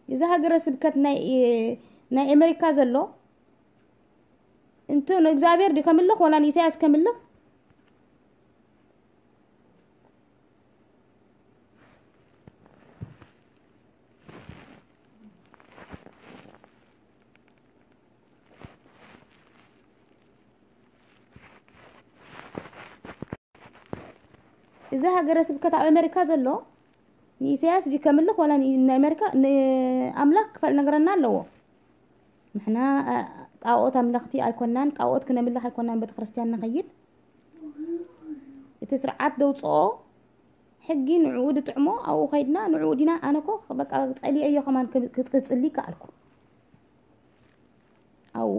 እዚ ሃገረ ስብከት ናይ፣ ናይ ኣሜሪካ ዘሎ እንቱ ንእግዚኣብሔር ድዩ ከምልኽ ወላ ንኢሳያስ ከምልኽ? እዚ ሃገረ ስብከት ኣብ ኣሜሪካ ዘሎ ንኢሳያስ ድዩ ከምልኽ ወላ ን-፣ ንኣሜሪካ፣ ንኣምላኽ ክፈል ነገረና ኣለዎ። ንሕና፣ እ፣ ጣኦት ኣምለኽቲ ኣይኮናን፣ ጣኦት ክነምልኽ ኣይኮናን ቤተክርስትያን ንኸይድ። እቲ ስርዓት ደውፅኦ ሕጊ ንዕኡ ድጥዕሞ ኣብኡ ኸይድና ንዕኡ ዲና፣ ኣነ እኮ በቃ ጸሊኤዮ ከማን ክብ-፣ ክጽ-፣ ክጽሊ ከኣልኩ።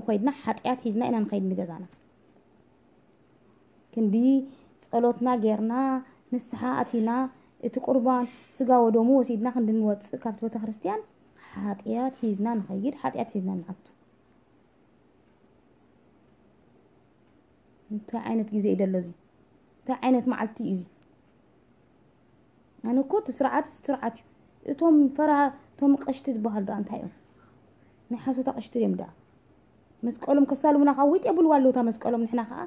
ከይድና ሓጢኣት ሒዝና ኢና ንኸይድ ንገዛና። ክንዲ ጸሎትና ጌርና፣ ንስሓ ኣቲና፣ እቲ ቁርባን ስጋ ወደሙ ወሲድና ክንዲ ንወጽእ ካብቲ ቤተክርስትያን፣ ሓጢኣት ሒዝና ንኸይድ፣ ሓጢኣት ሒዝና ንኣቱ። እንታይ ዓይነት ግዜ እዩ ደሎ እዚ? እንታይ ዓይነት መዓልቲ እዩ እዚ? ኣነ እኮ እቲ ስርዓት ስርዓት እዩ። እቶም ፈራ እቶም ቀሽቲ ዝበሃሉ ደኣ እንታይ እዮም? ናይ ሓሶት ኣቐሽቲ እዮም ደኣ። መስቀሎም ከሳልሙና ካብ ዊጥ የብልዋ ኣለዉ እታ መስቀሎም። ንሕና ከዓ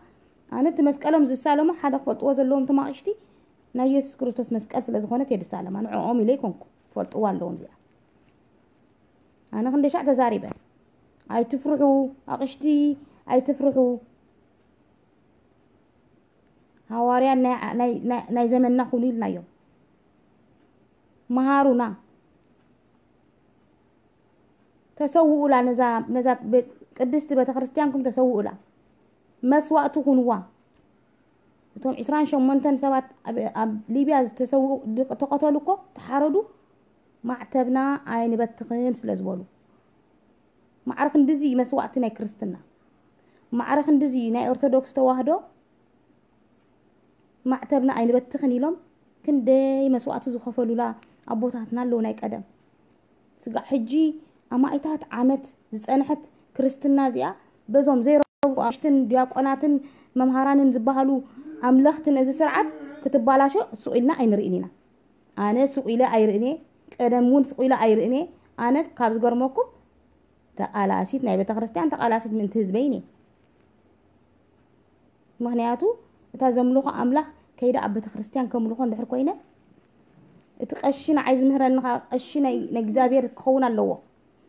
ኣነ እቲ መስቀሎም ዝሳለሙ ሓደ ክፈልጥዎ ዘለዎም እቶም ኣቐሽቲ ናይ የሱስ ክርስቶስ መስቀል ስለ ዝኾነት እየ ዝሳለማ። ንዕኦም ኢለ ይኮንኩ ክፈልጥዋ ኣለዎም እዚኣ። ኣነ ክንደይ ሻዕ ተዛሪበ። ኣይትፍርሑ ኣቕሽቲ፣ ኣይትፍርሑ። ሃዋርያ ናይ፣ ናይ፣ ናይ፣ ናይ ዘመንና ኩኑ ኢልናዮም። መሃሩና። ተሰውኡላ ነዛ፣ ነዛ ቤት፣ ቅድስቲ ቤተክርስትያንኩም ተሰውኡላ። መስዋእቲ ኩንዋ። እቶም ዕስራን ሸሞንተን ሰባት ኣብ፣ ኣብ ሊብያ ዝተሰውኡ፣ ድ-፣ ተቐተሉ እኮ፣ ተሓረዱ፣ ማዕተብና ኣይንበትኽን ስለ ዝበሉ። ማዕረ ክንድዚ እዩ መስዋእቲ ናይ ክርስትና። ማዕረ ክንድዚ እዩ ናይ ኦርቶዶክስ ተዋህዶ። ማዕተብና ኣይንበትኽን ኢሎም ክንደይ መስዋእቲ ዝኸፈሉላ ኣቦታትና ኣለዉ ናይ ቀደም። ስጋዕ ሕጂ ኣማኢታት ዓመት ዝጸንሐት ክርስትና እዚኣ በዞም ዘይረብኡ ኣሽትን ዲያቆናትን መምሃራንን ዝበሃሉ ኣምለኽትን እዚ ስርዓት ክትባላሾ ሱቕ ኢልና ኣይንርእን ኢና። ኣነ ሱቕ ኢለ ኣይርእን እየ። ቀደም እውን ሱቕ ኢለ ኣይርእን እየ። ኣነ ካብ ዝገርመኩም ተቓላሲት ናይ ቤተክርስትያን ተቓላሲት ምእንቲ ህዝበይን እየ። ምኽንያቱ እታ ዘምልኾ ኣምላኽ ከይደ ኣብ ቤተክርስትያን ከምልኾ እንድሕር ኮይነ እቲ ቀሺ ንዓይ ዝምህረኒ ኸዓ ቀሺ ናይ፣ ናይ እግዚኣብሔር ክኸውን ኣለዎ።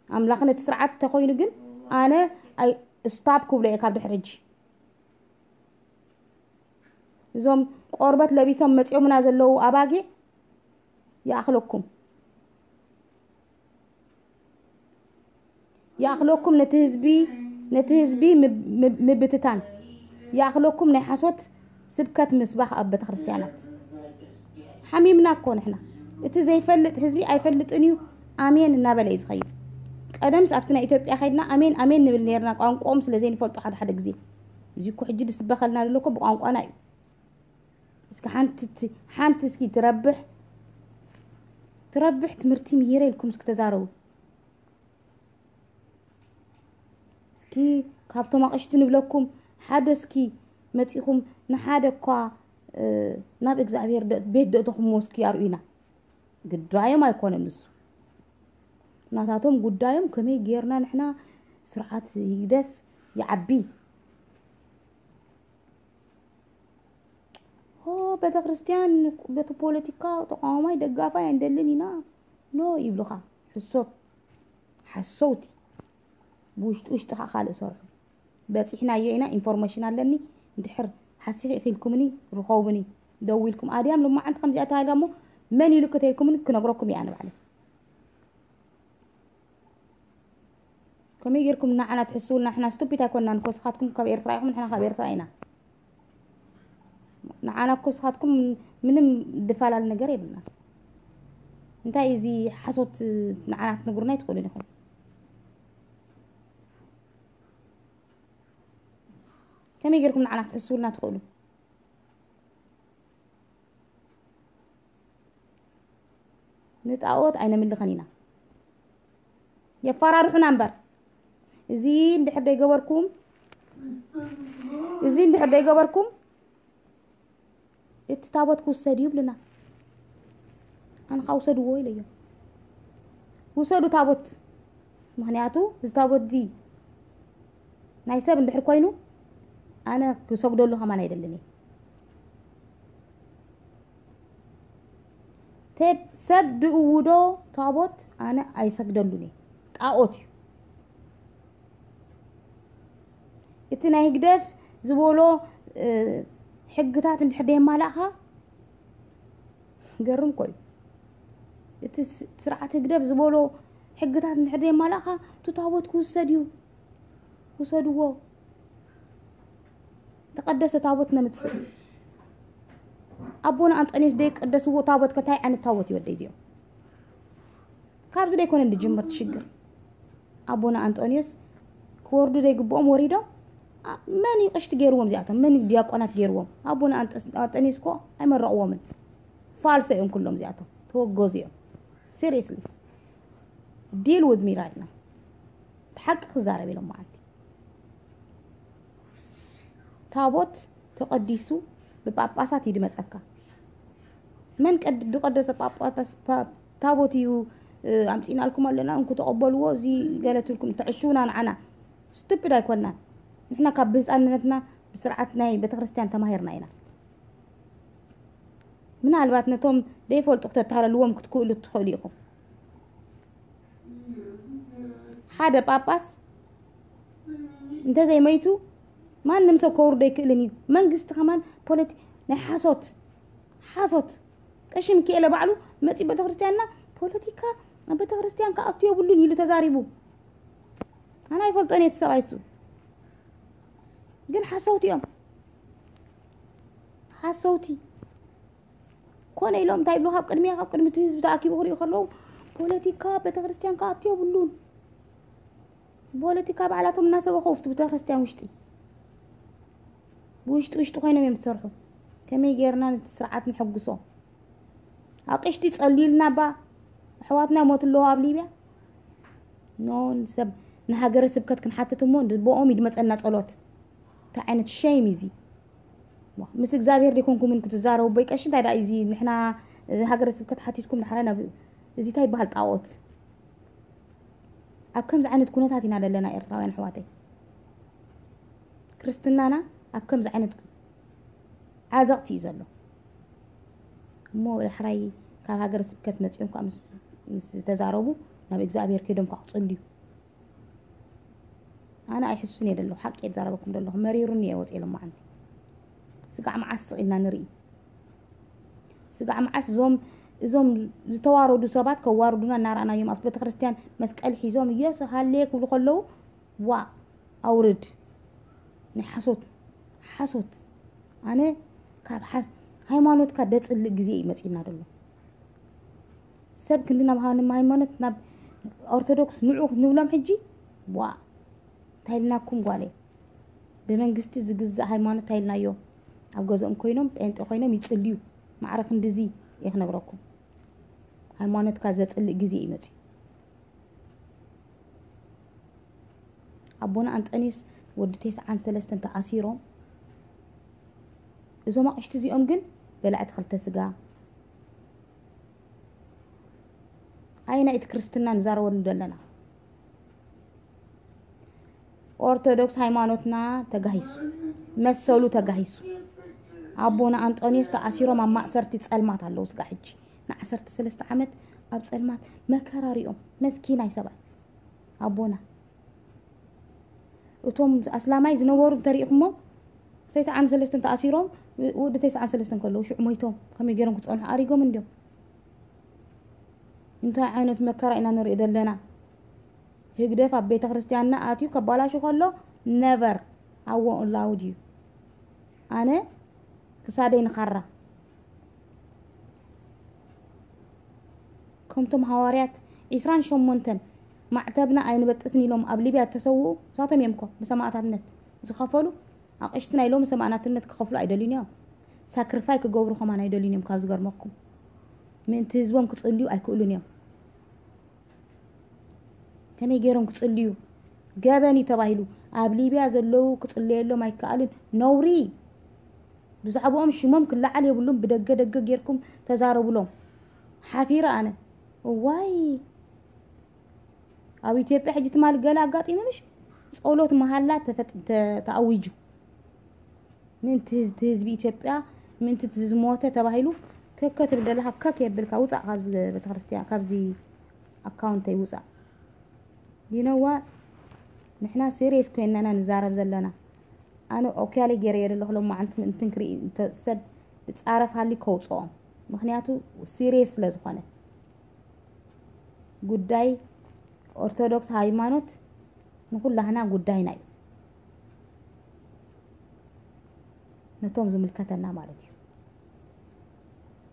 ኣምላኽ ነቲ ስርዓት ተኾይኑ ግን ኣነ ኣይ ስታፕ ክብሎ እየ ካብ ድሕሪ ሕጂ። እዞም ቆርበት ለቢሶም መጺኦምና ዘለዉ ኣባጊዕ ይኣኽለኩም። ይኣኽለኩም ነቲ ህዝቢ፣ ነቲ ህዝቢ ምብ-፣ ምብ-፣ ምብትታን። ይኣኽለኩም ናይ ሓሶት ስብከት ምስባኽ ኣብ ቤተክርስትያናት። ሓሚምና እኮ ንሕና። እቲ ዘይፈልጥ ህዝቢ ኣይፈልጥን እዩ፣ ኣሜን እናበለ እዩ ዝኸይድ። ቀደምስ ኣብቲ ናይ ኢትዮጵያ ከይድና ኣሜን፣ ኣሜን ንብል ነርና፣ ቋንቋኦም ስለ ዘይንፈልጦ ሓደ ሓደ ግዜ። እዚ እኮ ሕጂ ዝስበኸልና ዘሎ እኮ ብቋንቋና እዩ። እስኪ ሓንቲ ት-፣ ሓንቲ እስኪ ትረብሕ፣ ትረብሕ ትምህርቲ ምሂረ ኢልኩም እስኪ ተዛረቡ። እስኪ ካብቶም ኣቕሽቲ ንብለኩም ሓደ እስኪ መጺኹም ንሓደ እኳ፣ እ፣ ናብ እግዚኣብሔር ደ-፣ ቤት ደእተኹምዎ እስኪ ኣርእዩና። ግዳዮም ኣይኮነን ንሱ። ናታቶም ጉዳዮም ከመይ ጌርና ንሕና ስርዓት ይግደፍ ይዓቢ። ሆ፣ ቤተክርስትያን በቲ ፖለቲካ ተቃዋማይ ደጋፋይ ኣይንደልን ኢና። ኖ ይብሉኻ። ሕሶት። ሓሰውቲ። ብውሽጢ ውሽጢ ኸዓ ካልእ ሰርሑ። በጺሕናዮ ኢና፣ ኢንፎርሜሽን ኣለኒ። እንድሕር ሓሲኺ ኢኺልኩምኒ፣ ርኸቡኒ። ደዊልኩም፣ ኣድያም ሎማዓንቲ ከምዚኣ ተባሂላ እሞ መን ኢሉ ከተይልኩምኒ ክነግረኩም እየ ኣነ ባዕለይ። ከመይ ጌርኩም ንዓና ትሕስውልና? ንሕና ስቱፒድ ኣይኮንናን እኮ፣ ንስኻትኩም ካብ ኤርትራ ኢኹም፣ ንሕና ካብ ኤርትራ ኢና። ንዓና እኮ ንስኻትኩም ምንም ድፋላል ነገር የብልና። እንታይ እዚ ሓሶት ንዓና ክትነግሩና ኣይትኽእሉን ኢኹም። ከመይ ጌርኩም ንዓና ክትሕስውልና ትኽእሉ? ንጣኦት ኣይነምልኸን ኢና። የፋራርሑና እምበር። እዚ እንድሕር ደይገበርኩም፣ እዚ እንድሕር ደይገበርኩም፣ እቲ ታቦት ክውሰድ እዩ ይብሉና። ኣነ ኸዓ ውሰድዎ ኢለዮም። ውሰዱ ታቦት። ምኽንያቱ እዚ ታቦት እዚ ናይ ሰብ እንድሕር ኮይኑ፣ ኣነ ክሰግደሉ ከማን ኣይደልን እየ። ቴብ-፣ ሰብ ድእውዶ ታቦት ኣነ ኣይሰግደሉን እየ። ጣኦት እዩ። እቲ ናይ ህግደፍ ዝበሎ፣ እ፣ ሕግታት እንድሕር ደየማላእኻ፣ ገርም እኮ እዩ። እቲ ስ-፣ ስርዓት ህግደፍ ዝበሎ ሕግታት እንድሕር ደየማላእኻ፣ እቲ ታቦት ክውሰድ እዩ። ውሰድዎ። ተቐደሰ ታቦት ነምጽእ። ኣቦና ኣንጠንዮስ ደይቀደስዎ ታቦት ከ እንታይ ዓይነት ታቦት እዩ ወደይ እዚኦም? ካብዚ ደይኮነ እንድጅምር ትሽግር። ኣቦና ኣንጠንዮስ ክወርዱ ዘይግብኦም ወሪዶም። መን እዩ ቅሽቲ ገይርዎም እዚኣቶም? መን እዩ ዲያቆናት ገይርዎም? ኣቡነ ኣንጠኒስ እኮ ኣይመረቕዎምን። ፋልሶ እዮም ኩሎም እዚኣቶም፣ ተወገዙ እዮም። Seriously, deal with me right now. ሓቂ ክዛረብ ኢሎም መዓልቲ ታቦት ተቐዲሱ ብጳጳሳት እዩ ድመፀካ። መን ዝቐደሰ ጳጳስ ታቦት እዩ ኣምፂናልኩም ኣለና እንኩ ተቐበልዎ፣ እዚ ገለ ትብልኩም ተዕሽውና ንዓና። ስቱፒድ ኣይኮናን። ንሕና ካብ ብህፃንነትና ብስርዓት ናይ ቤተክርስትያን ተማሂርና ኢና። ምናልባት ነቶም ዘይፈልጡ ክተታለልዎም ክትክእሉ ትኽእሉ ኢኹም። ሓደ ጳጳስ እንተዘይመይቱ ማንም ሰብ ከውርዶ ኣይክእልን እዩ። መንግስቲ ከማን ፖለቲ ናይ ሓሶት ሓሶት ቀሺ ሚካኤለ ባዕሉ መፂ ቤተክርስትያንና ፖለቲካ ኣብ ቤተክርስትያን ክኣቱ የብሉን ኢሉ ተዛሪቡ። ኣነ ኣይፈልጦን እየ እቲ ሰብኣይ እሱ። ግን ሓሰውቲ እዮም። ሓሰውቲ ኮነ ኢሎም እንታይ ይብሉ? ካብ ቅድሚያ ካብ ቅድሚ እቲ ህዝቢ ተኣኪቡ ክሪኡ ከለዉ ፖለቲካ ቤተክርስትያን ክኣቱ የብሉን። ፖለቲካ ባዕላቶም እናሰበኹ ኣብቲ ቤተክርስትያን ውሽጢ ብውሽጢ ውሽጢ ኮይኖም እዮም ዝሰርሑ። ከመይ ጌርና ነቲ ስርዓት ንሐጉሶ? ኣቕሽቲ ጸልዩልና ባ ኣሕዋትና ይሞቱ ኣለዉ ኣብ ሊብያ። ኖ ሰብ ንሃገረ ስብከት ክንሓትት እሞ ብኦም ይድመጸና ጸሎት። እንታይ ዓይነት ሸይም እዚ? ምስ እግዚኣብሔር ደይኮንኩምን ክትዛረቡ ቦይ ቀሺ እንታይ ደኣ እዚ ንሕና ሃገረ ስብከት ሓቲትኩም ድሓረ ናብ እዚ እንታይ ይበሃል ጣዖት? ኣብ ከምዚ ዓይነት ኩነታት ኢና ዘለና ኤርትራውያን ኣሕዋተይ። ክርስትናና ኣብ ከምዚ ዓይነት ዓዘቕቲ እዩ ዘሎ። እሞ ዳሕራይ ካብ ሃገረ ስብከት መጺኦም ከዓ ምስ ዝተዛረቡ ናብ እግዚኣብሔር ከይዶም ከዓ ክጽልዩ። ኣነ ኣይሕሱን እየ ዘለኹ፣ ሓቂ እየ ዝዛረበኩም ዘለኹ። መሪሩኒ እየ ወፅየ ሎማዓንቲ። ስጋዕ መዓስ ስቕ ኢልና ንርኢ? ስጋዕ መዓስ እዞም እዞም ዝተዋረዱ ሰባት ከዋርዱና እናረኣናዮም ኣብቲ ቤተክርስትያን መስቀል ሒዞም ኢየሱስ ሃሌ ክብሉ ከለዉ ዋ ኣውርድ ናይ ሓሶት ሓሶት። ኣነ ካብ ሓስ ሃይማኖትካ ደፅልእ ግዜ እዩ መፂና ዘሎ። ሰብ ክንዲ ናብ ሃይማኖት ናብ ኦርቶዶክስ ንዑ ክንብሎም ሕጂ ዋ እንታይ ኢልናኩም ጓለይ? ብመንግስቲ ዝግዛእ ሃይማኖት እንታይ ኢልናዮ? ኣብ ገዝኦም ኮይኖም ጴንጤ ኮይኖም ይፅልዩ። ማዕረ ክንድዚ እየ ክነግረኩም። ሃይማኖትካ ዘፅልእ ግዜ እዩ መፅዩ። ኣቦና ኣንጠኒዮስ ወዲ ተስዓን ሰለስተን ተኣሲሮም እዞም ኣቕሽቲ እዚኦም ግን በላዕቲ ክልተ ስጋ። ኣየናይ እቲ ክርስትና ንዛረበሉ ዘለና? ኦርቶዶክስ ሃይማኖትና ተጋሂሱ፣ መሰሉ ተጋሂሱ። ኣቦና ኣንጦንዮስ ተኣሲሮም ኣብ ማእሰርቲ ጸልማት ኣለዉ። ስጋ ሕጂ ንዓሰርተ ሰለስተ ዓመት ኣብ ጸልማት መከራ ሪኦም መስኪናይ ሰብኣይ ኣቦና። እቶም ኣስላማይ ዝነበሩ እንተሪኢኹሞ ተስዓን ሰለስተን ተኣሲሮም ወዲ ተስዓን ሰለስተን ከለዉ ሽዑ ሞይቶም ከመይ ገይሮም ክጸንሑ ኣሪጎም እንዲዮም። እንታይ ዓይነት መከራ ኢና ንርኢ ዘለና? ህግደፍ ኣብ ቤተ ክርስቲያንና ኣትዩ ከባላሹ ከሎ ነበር ኣዎ ላውድ እዩ። ኣነ ክሳደይ ንኻራ ከምቶም ሃዋርያት ዒስራን ሸሞንተን ማዕተብና ኣይንበጥስን ኢሎም ኣብ ሊብያ እተሰውኡ እሳቶም እዮም እኮ ብሰማእታትነት ዝኸፈሉ። ኣቕሽቲ ናይ ሎሚ ሰማእናትነት ክኸፍሉ ኣይደልዩን እዮም። ሳክሪፋይ ክገብሩ ከማን ኣይደልዩን እዮም። ካብ ዝገርመኩም ምእንቲ ህዝቦም ክጽልዩ ኣይክእሉን እዮም። ከመይ ገይሮም ክጽልዩ? ገበን እዩ ተባሂሉ። ኣብ ሊብያ ዘለዉ ክጽለየሎም ኣይከኣልን። ነውሪ። ብዛዕባኦም ሽሞም ክለዓል የብሉን። ብደገ ደገ ጌርኩም ተዛረቡሎም። ሓፊረ ኣነ። እዋይ ኣብ ኢትዮጵያ ሕጂ ትማሊ ገለ ኣጋጢሙ ምሽ ጸሎት መሃላ ተፈጥ- ተ- ተኣዊጁ። ምእንቲ ህዝ- ህዝቢ ኢትዮጵያ ምእንቲ እቲ ዝሞተ ተባሂሉ ከከ ትብል ዘለኻ ከክ የብልካ። ውፃእ ካብዚ ቤተክርስትያን ካብዚ ኣካውንተይ ውፃእ። You know what? ንሕና ሲሪየስ ኮይንና ኢና ንዛረብ ዘለና። ኣነ ኦክያለይ ገይረዮ ዘለኹ ሎማዓንቲ ምእንትን ክርኢ እንተ ሰብ ዝፃረፍ ሃልዩ ከውፅኦም። ምክንያቱ ሲሪየስ ስለ ዝኾነ ጉዳይ ኦርቶዶክስ ሃይማኖት ንኩላህና ጉዳይና እዩ። ነቶም ዝምልከተና ማለት እዩ።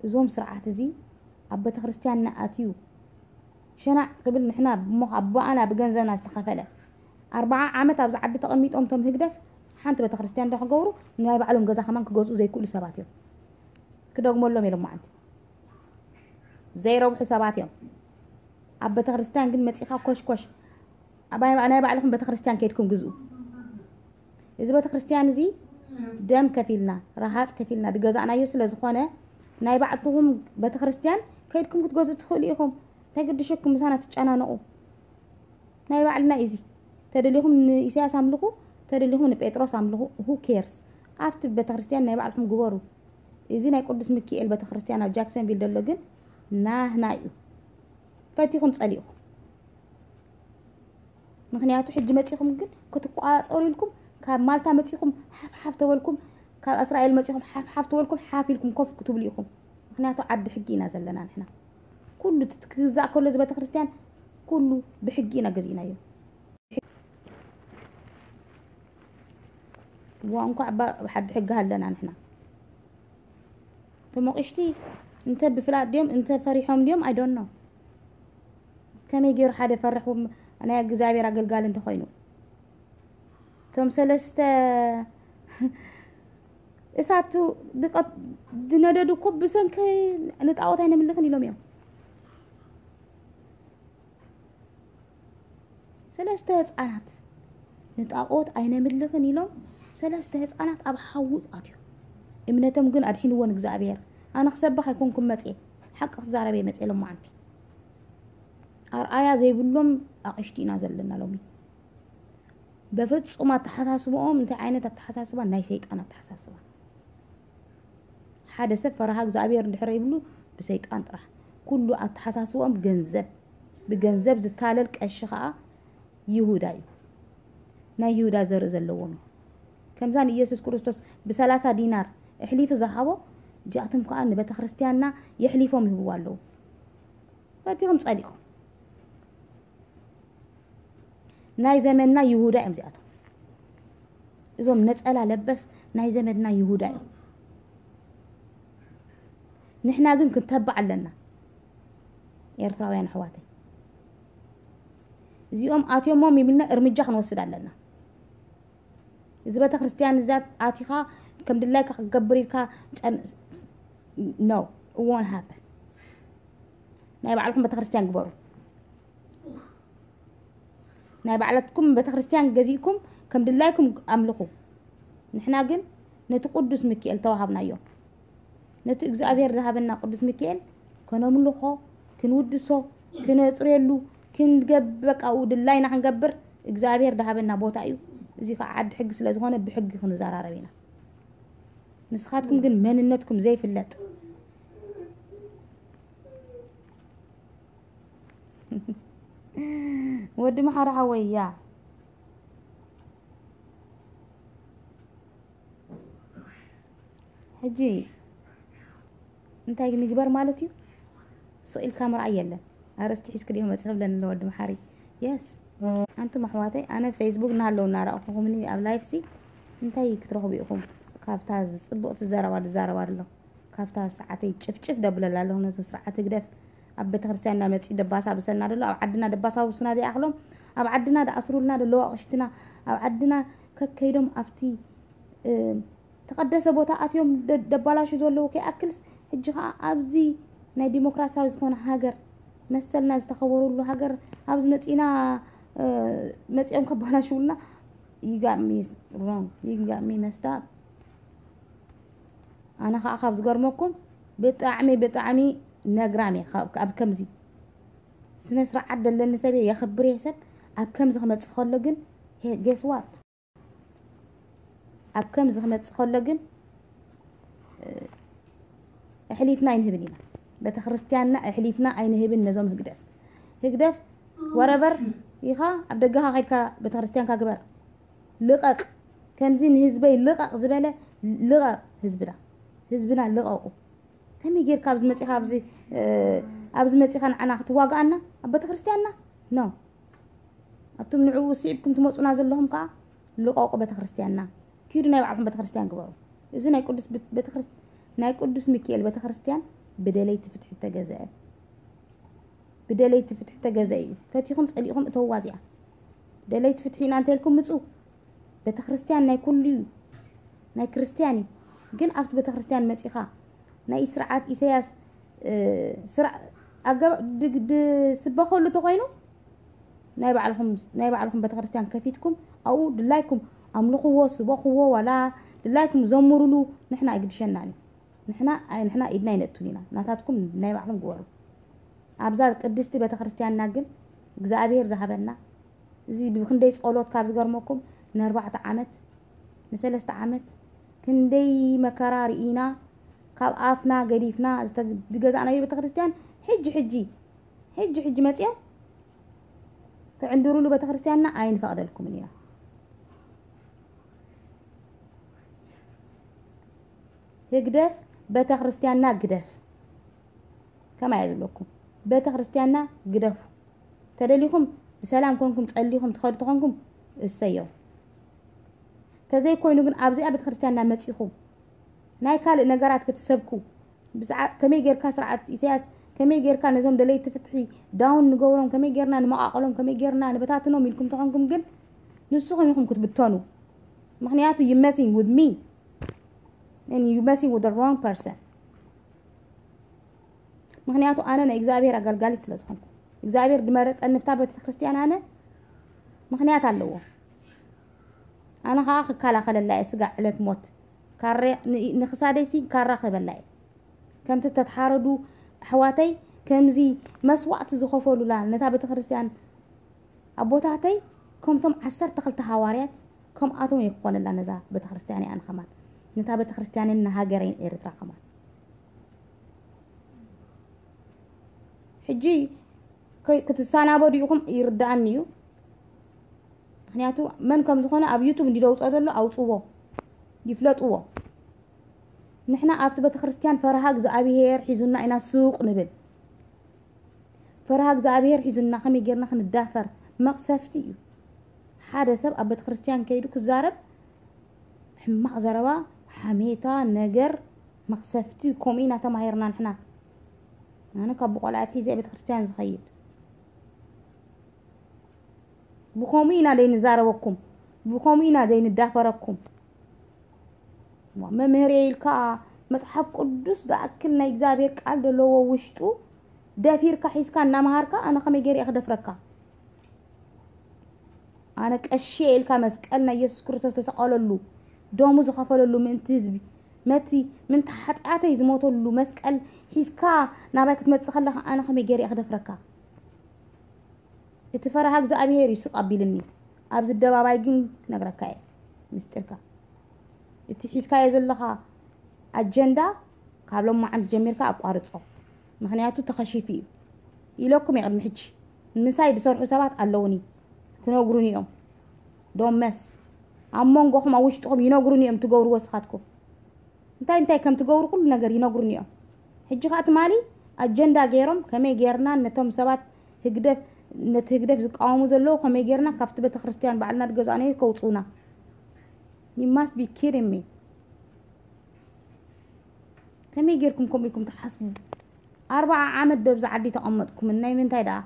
እዞም ስርዓት እዚ ኣብ ቤተክርስትያንና ኣትዩ ሸናዕ ክብል ንሕና እሞ ኣቦኣና ብገንዘብና ዝተኸፈለ ኣርባዓ ዓመት ኣብዚ ዓዲ ተቐሚጦም እቶም ህግደፍ ሓንቲ ቤተክርስትያን ዶ ክገብሩ፣ ናይ ባዕሎም ገዛ ከማን ክገዝኡ ዘይክእሉ ሰባት እዮም። ክደግመሎም ኢሎም መዓንቲ ዘይረብሑ ሰባት እዮም። ኣብ ቤተክርስትያን ግን መጺኻ ኮሽኮሽ፣ ኣብ ናይ ባዕልኹም ቤተክርስትያን ከይድኩም ግዝኡ። እዚ ቤተክርስትያን እዚ ደም ከፊልና፣ ረሃጽ ከፊልና ዝገዛእናዮ ስለ ዝኾነ፣ ናይ ባዕልኹም ቤተክርስትያን ከይድኩም ክትገዝኡ ትኽእሉ ኢኹም። እንታይ ግድሸኩም ምሳና ትጨናነቑ? ናይ ባዕልና እዩ እዚ። ተደሊኹም ንኢሳያስ ኣምልኹ፣ ተደሊኹም ንጴጥሮስ ኣምልኹ፣ who cares? ኣብቲ ቤተክርስትያን ናይ ባዕልኹም ግበሩ። እዚ ናይ ቅዱስ ሚካኤል ቤተክርስትያን ኣብ ጃክሰንቪል ዘሎ ግን ናህና እዩ። ፈቲኹም ጸሊእኹም። ምኽንያቱ ሕጂ መጺኹም ግን ክትቋጸሩ ኢልኩም፣ ካብ ማልታ መጺኹም ሓፍ ሓፍ ተበልኩም፣ ካብ እስራኤል መጺኹም ሓፍ ሓፍ ተበልኩም፣ ሓፍ ኢልኩም ኮፍ ክትብሉ ኢኹም። ምኽንያቱ ዓዲ ሕጊ ኢና ዘለና ንሕና። ኩሉ እቲ ክግዛእ ከሎ እዚ ቤተክርስትያን ኩሉ ብሕጊ ኢና ገዚእናዮ። ዋ እንኳዕ ባ-፣ ብሓዲ ሕጊ ሃለና ንሕና። እቶም ኣቕሽቲ እንተ ብፍላጥ ድዮም፣ እንተ ፈሪሖም ድዮም፣ I don't know። ከመይ ገይሩ ሓደ ፈርሕ ናይ እግዚኣብሔር ኣገልጋሊ እንተኾይኑ? እቶም ሰለስተ እሳቱ ድቐ-፣ ድነደዱ እኮ ብሰንኪ ንጣዖት ኣይነምልኽን ኢሎም እዮም። ሰለስተ ህፃናት ንጣዖት ኣይነምልኽን ኢሎም ሰለስተ ህፃናት ኣብ ሓዊ ኣትዮም። እምነቶም ግን ኣድሒንዎን እግዚኣብሔር። ኣነ ክሰብኽ ኣይኮንኩም መፅየ፣ ሓቂ ክዛረብ እየ መፅየ ሎማዓንቲ። ኣርኣያ ዘይብሎም ኣቕሽቲ ኢና ዘለና ሎሚ። በፍጹም ኣተሓሳስባኦም እንታይ ዓይነት ኣተሓሳስባ? ናይ ሰይጣን ኣተሓሳስባ። ሓደ ሰብ ፈርሃ እግዚኣብሔር እንድሕር ይብሉ ብሰይጣን ጥራሕ። ኩሉ ኣተሓሳስባኦም ገንዘብ፣ ብገንዘብ ዝታለል ቀሺ ኸዓ ይሁዳ እዩ። ናይ ይሁዳ ዘርኢ ዘለዎም እዩ። ከምዛ ንኢየሱስ ክርስቶስ ብሰላሳ ዲናር ኣሕሊፉ ዝሃቦ፣ እዚኣቶም ከኣ ንቤተ ክርስቲያንና የሕሊፎም ይህብዋ ኣለዉ። ፈቲኹም ጸሊእኩም። ናይ ዘመንና ይሁዳ እዮም እዚኣቶም። እዞም ነጸላ ለበስ ናይ ዘመንና ይሁዳ እዮም። ንሕና ግን ክንተባዕ ኣለና። ኤርትራውያን ኣሕዋተይ፣ እዚኦም ኣትዮሞም ይብልና እርምጃ ክንወስድ ኣለና። እዚ ቤተ ክርስቲያን እዛ ኣቲኻ ከም ድላይካ ክትገብር ኢልካ ጨን-፣ no, it won't happen። ናይ ባዕልኩም ቤተ ክርስቲያን ግበሩ። ናይ ባዕላትኩም ቤተ ክርስቲያን ገዚእኩም ከም ድላይኩም ኣምልኹ። ንሕና ግን ነቲ ቅዱስ ሚካኤል ተዋሃብናዮ። ነቲ እግዚኣብሔር ዝሃበና ቅዱስ ሚካኤል ከነምልኾ፣ ክንውድሶ፣ ክነጽርየሉ፣ ክንገብ-፣ በቃ፣ ኡ ድላይና ክንገብር እግዚኣብሔር ዝሃበና ቦታ እዩ። እዚ ከዓ ዓዲ ሕጊ ስለ ዝኾነ ብሕጊ ክንዘራረብ ኢና። ንስኻትኩም ግን መንነትኩም ዘይፍለጥ። ወዲ መሓሪ ሓወይ፣ ያ። ሕጂ እንታይ ንግበር ማለት እዩ? ስቕ ኢልካ ምርኣይ የለን። ኣርእስቲ ሒዝኪ ዲኹም መፂኺ ብለኒ ኣሎ ወዲ መሓሪ። የስ። ኣንቱም ኣሕዋተይ፣ ኣነ ፌስቡክ እናሃለዉ እናረኣኹኹምኒ ኣብ ላይፍ ሲ እንታይ ክትረኽቡ ኢኹም? ካብታ ጽብቕቲ ዘረባ ዝዛረባ ኣሎ። ካብታ ሰዓተይ ጭፍጭፍ ደብለላ ኣለኹ ነቲ ስርዓት ህግደፍ። ኣብ ቤተክርስትያንና መጺኡ ደባሳብሰና ደሎ፣ ኣብ ዓድና ደባሳብሱና ዘይኣኽሎም፣ ኣብ ዓድና ደኣስሩልና ደለዉ ኣቕሽትና፣ ኣብ ዓድና ከከይዶም ኣብቲ፣ እ፣ ተቐደሰ ቦታ ኣትዮም ደ-፣ ደባላሹ ዘለዉ ከይኣክልስ፣ ሕጂ ኸኣ ኣብዚ ናይ ዲሞክራሲያዊ ዝኾነ ሃገር፣ መሰልና ዝተኸበረሉ ሃገር ኣብዚ መጺና፣ እ፣ መጺኦም ከባላሽውልና፣ you got me wrong, you got me messed up። ኣነ ኸኣ ካብ ዝገርመኩም ብጣዕሚ፣ ብጣዕሚ ነግራም እየ ካብ፣ ኣብ ከምዚ ስነ ስርዓት ዘለኒ ሰብ እየ፣ የኽብር እየ ሰብ። ኣብ ከምዚ ክመጽእ ከሎ ግን፣ ሄ-፣ guess what? ኣብ ከምዚ ክመጽእ ከሎ ግን፣ እ፣ ኣሕሊፍና ኣይንህብን ኢና። ቤተ ክርስቲያንና ኣሕሊፍና ኣይንህብን ነዞም ህግደፍ። ህግደፍ whatever ኢኻ፣ ኣብ ደገኻ ከይድካ ቤተ ክርስቲያንካ ግበር። ልቐቕ። ከምዚ ንህዝበይ ልቐቕ ዝበለ ልቐቕ ህዝብና። ህዝብና ልቐቑ። ከመይ ጌርካ ኣብዚ መጺኻ ኣብዚ፣ እ፣ ኣብዚ መጺኻ ንዓና ክትዋግኣና ኣብ ቤተ ክርስቲያንና? ኖ። ኣቱም ንዕኡ ስዒብኩም ትመጹና ዘለኹም ከኣ ልቐቑ ቤተ ክርስቲያንና። ኪዱ ናይ ባዕልኹም ቤተ ክርስቲያን ግበሩ። እዚ ናይ ቅዱስ ብ-፣ ቤተ ክርስ-፣ ናይ ቅዱስ ሚካኤል ቤተ ክርስቲያን ብደለይቲ ፍትሒ ዝተገዝአ፣ ብደለይቲ ፍትሒ ዝተገዝአ እዩ። ፈቲኹም ጸሊእኹም እተውዋ እዚኣ። ደለይቲ ፍትሒ ኢና እንተልኩም ምፁ። ቤተክርስትያን ናይ ኩሉ እዩ፣ ናይ ክርስትያን እዩ። ግን ኣብቲ ቤተክርስትያን መፂኻ ናይ ስርዓት ኢሳያስ ስብከሉ ተኮይኑ ናይ ባዕልኩም ቤተክርስትያን ከፊትኩም ኣብኡ ድላይኩም ኣምልኽዎ፣ ስበኽዎ፣ ዋላ ድላይኩም ዘምሩሉ፣ ንሕና ኣይግድሸናን እዩ። ንሕና ኢድና ኣይነእቱን ኢና። ናታትኩም ናይ ባዕልኩም ግበሩ። ኣብዛ ቅድስቲ ቤተክርስትያንና ግን እግዚኣብሔር ዝሃበና እዚ ብክንደይ ጸሎት ካብ ዝገርመኩም ንኣርባዕተ ዓመት ንሰለስተ ዓመት ክንደይ መከራ ርኢና ካብ ኣፍና ገዲፍና ዝገዛእናዮ ቤተክርስትያን ሕጂ ሕጂ ሕጂ ሕጂ መጽዮም ክዕንድሩሉ ቤተክርስትያንና ኣይንፈቕደልኩምን ኢና። ህግደፍ ቤተክርስትያንና ግደፍ ከማይ ዝብለኩም ቤተክርስትያንና ግደፉ። ተደሊኹም ብሰላም ኮንኩም ጸሊኹም ትኸዱ ተኾንኩም እሰዮ። ተዘይኮይኑ ግን ኣብዚኣ ቤተክርስትያንና መጺኹም ናይ ካልእ ነገራት ክትሰብኩ ብስዓ-፣ ከመይ ጌርካ ስርዓት ኢሳያስ ከመይ ጌርካ ነዞም ደለይቲ ፍትሒ ዳውን ንገብሮም፣ ከመይ ጌርና ንመቓቐሎም፣ ከመይ ጌርና ንበታትኖም ኢልኩም ተኾንኩም ግን ንስኹም ኢኹም ክትብተኑ። ምኽንያቱ you messing with me and you messing with the wrong person። ምኽንያቱ ኣነ ናይ እግዚኣብሔር ኣገልጋሊት ስለ ዝኾንኩ እግዚኣብሔር ድመረፀኒ ብታ ቤተክርስትያን ኣነ ምኽንያት ኣለዎ። ኣነ ከዓ ክከላኸለላ እየ ስጋዕ ዕለት ሞት ካሬ ንክሳደይሲ ካራ ክህበላ እየ። ከምቲ ተተሓረዱ ኣሕዋተይ ከምዚ መስዋእቲ ዝኸፈሉላ ነታ ቤተክርስትያን ኣቦታተይ ከምቶም ዓሰርተ ክልተ ሃዋርያት ከምኣቶም እየ ክኾነላ ነዛ ቤተክርስትያን እያ ንኸማን ነታ ቤተክርስትያንን ንሃገረይን ኤርትራ ከማን። ሕጂ ክትሰናበዱ ኢኹም ይርዳኣኒ እዩ። ምክንያቱ መን ከም ዝኾነ ኣብ ዩቱብ እንዲደውፆ ዘሎ ኣውፅዎ ይፍለጥዎ። ንሕና ኣብቲ ቤተክርስትያን ፈርሃ እግዚኣብሄር ሒዙና ኢና ሱቕ ንብል። ፈርሃ እግዚኣብሄር ሒዙና ከመይ ጌርና ክንዳፈር መቕሰፍቲ እዩ። ሓደ ሰብ ኣብ ቤተክርስትያን ከይዱ ክዛረብ ሕማቕ ዘረባ፣ ሓሜታ፣ ነገር፣ መቕሰፍቲ፣ ከምኡ ኢና ተማሂርና ንሕና። ኣነ ካብ ብቆልዓ ኣትሒዘ ቤተክርስትያን ዝኸይድ ብከምኡ ኢና ዘይንዛረበኩም፣ ብከምኡ ኢና ዘይንዳፈረኩም። መምህር ኢልካ መጽሓፍ ቅዱስ ዝኣክል ናይ እግዚኣብሔር ቃል ዘለዎ ውሽጡ ደፊርካ ሒዝካ እናመሃርካ ኣነ ከመይ ገይረ እየ ክደፍረካ? ኣነ ቀሺ ኢልካ መስቀል ናይ ኢየሱስ ክርስቶስ ተሰቀለሉ ደሙ ዝኸፈለሉ ምእንቲ ህዝቢ መቲ ምንቲ ሓጢኣተይ ዝሞተሉ መስቀል ሒዝካ ናባይ ክትመጽእ ከለኻ ኣነ ከመይ ገይረ እየ ክደፍረካ? እቲ ፈረሃ እግዚኣብሔር እዩ ስቕ ኣቢልኒ። ኣብዚ ኣደባባይ ግን ክነግረካ እየ ምስጢርካ። እቲ ሒዝካዮ ዘለኻ ኣጀንዳ ካብ ሎማዓንቲ ጀሚርካ ኣቋርጾ። ምኽንያቱ ተኸሺፉ እዩ ኢለኩም እየ ቅድሚ ሕጂ። ምሳይ ዝሰርሑ ሰባት ኣለውኒ ክነግሩኒ እዮም። ዶመስ ኣብ መንጎኹም ኣብ ውሽጥኹም ይነግሩኒ እዮም ትገብርዎ ስኻትኩም። እንታይ እንታይ ከም ትገብሩ ኩሉ ነገር ይነግሩኒ እዮም። ሕጂ ከዓ ትማሊ ኣጀንዳ ገይሮም ከመይ ገይርና ነቶም ሰባት ህግደፍ ነቲ ህግደፍ ዝቃወሙ ዘለዉ ከመይ ገይርና ካብቲ ቤተክርስትያን ባዕልና ዝገዛእናዮ ከውፅኡና። You must be kidding me። ከመይ ገይርኩም ከምኡ ኢልኩም ትሓስቡ? ኣርባዓ ዓመት ደብዚ ዓዲ ተቐመጥኩም ናይ ምንታይ ደኣ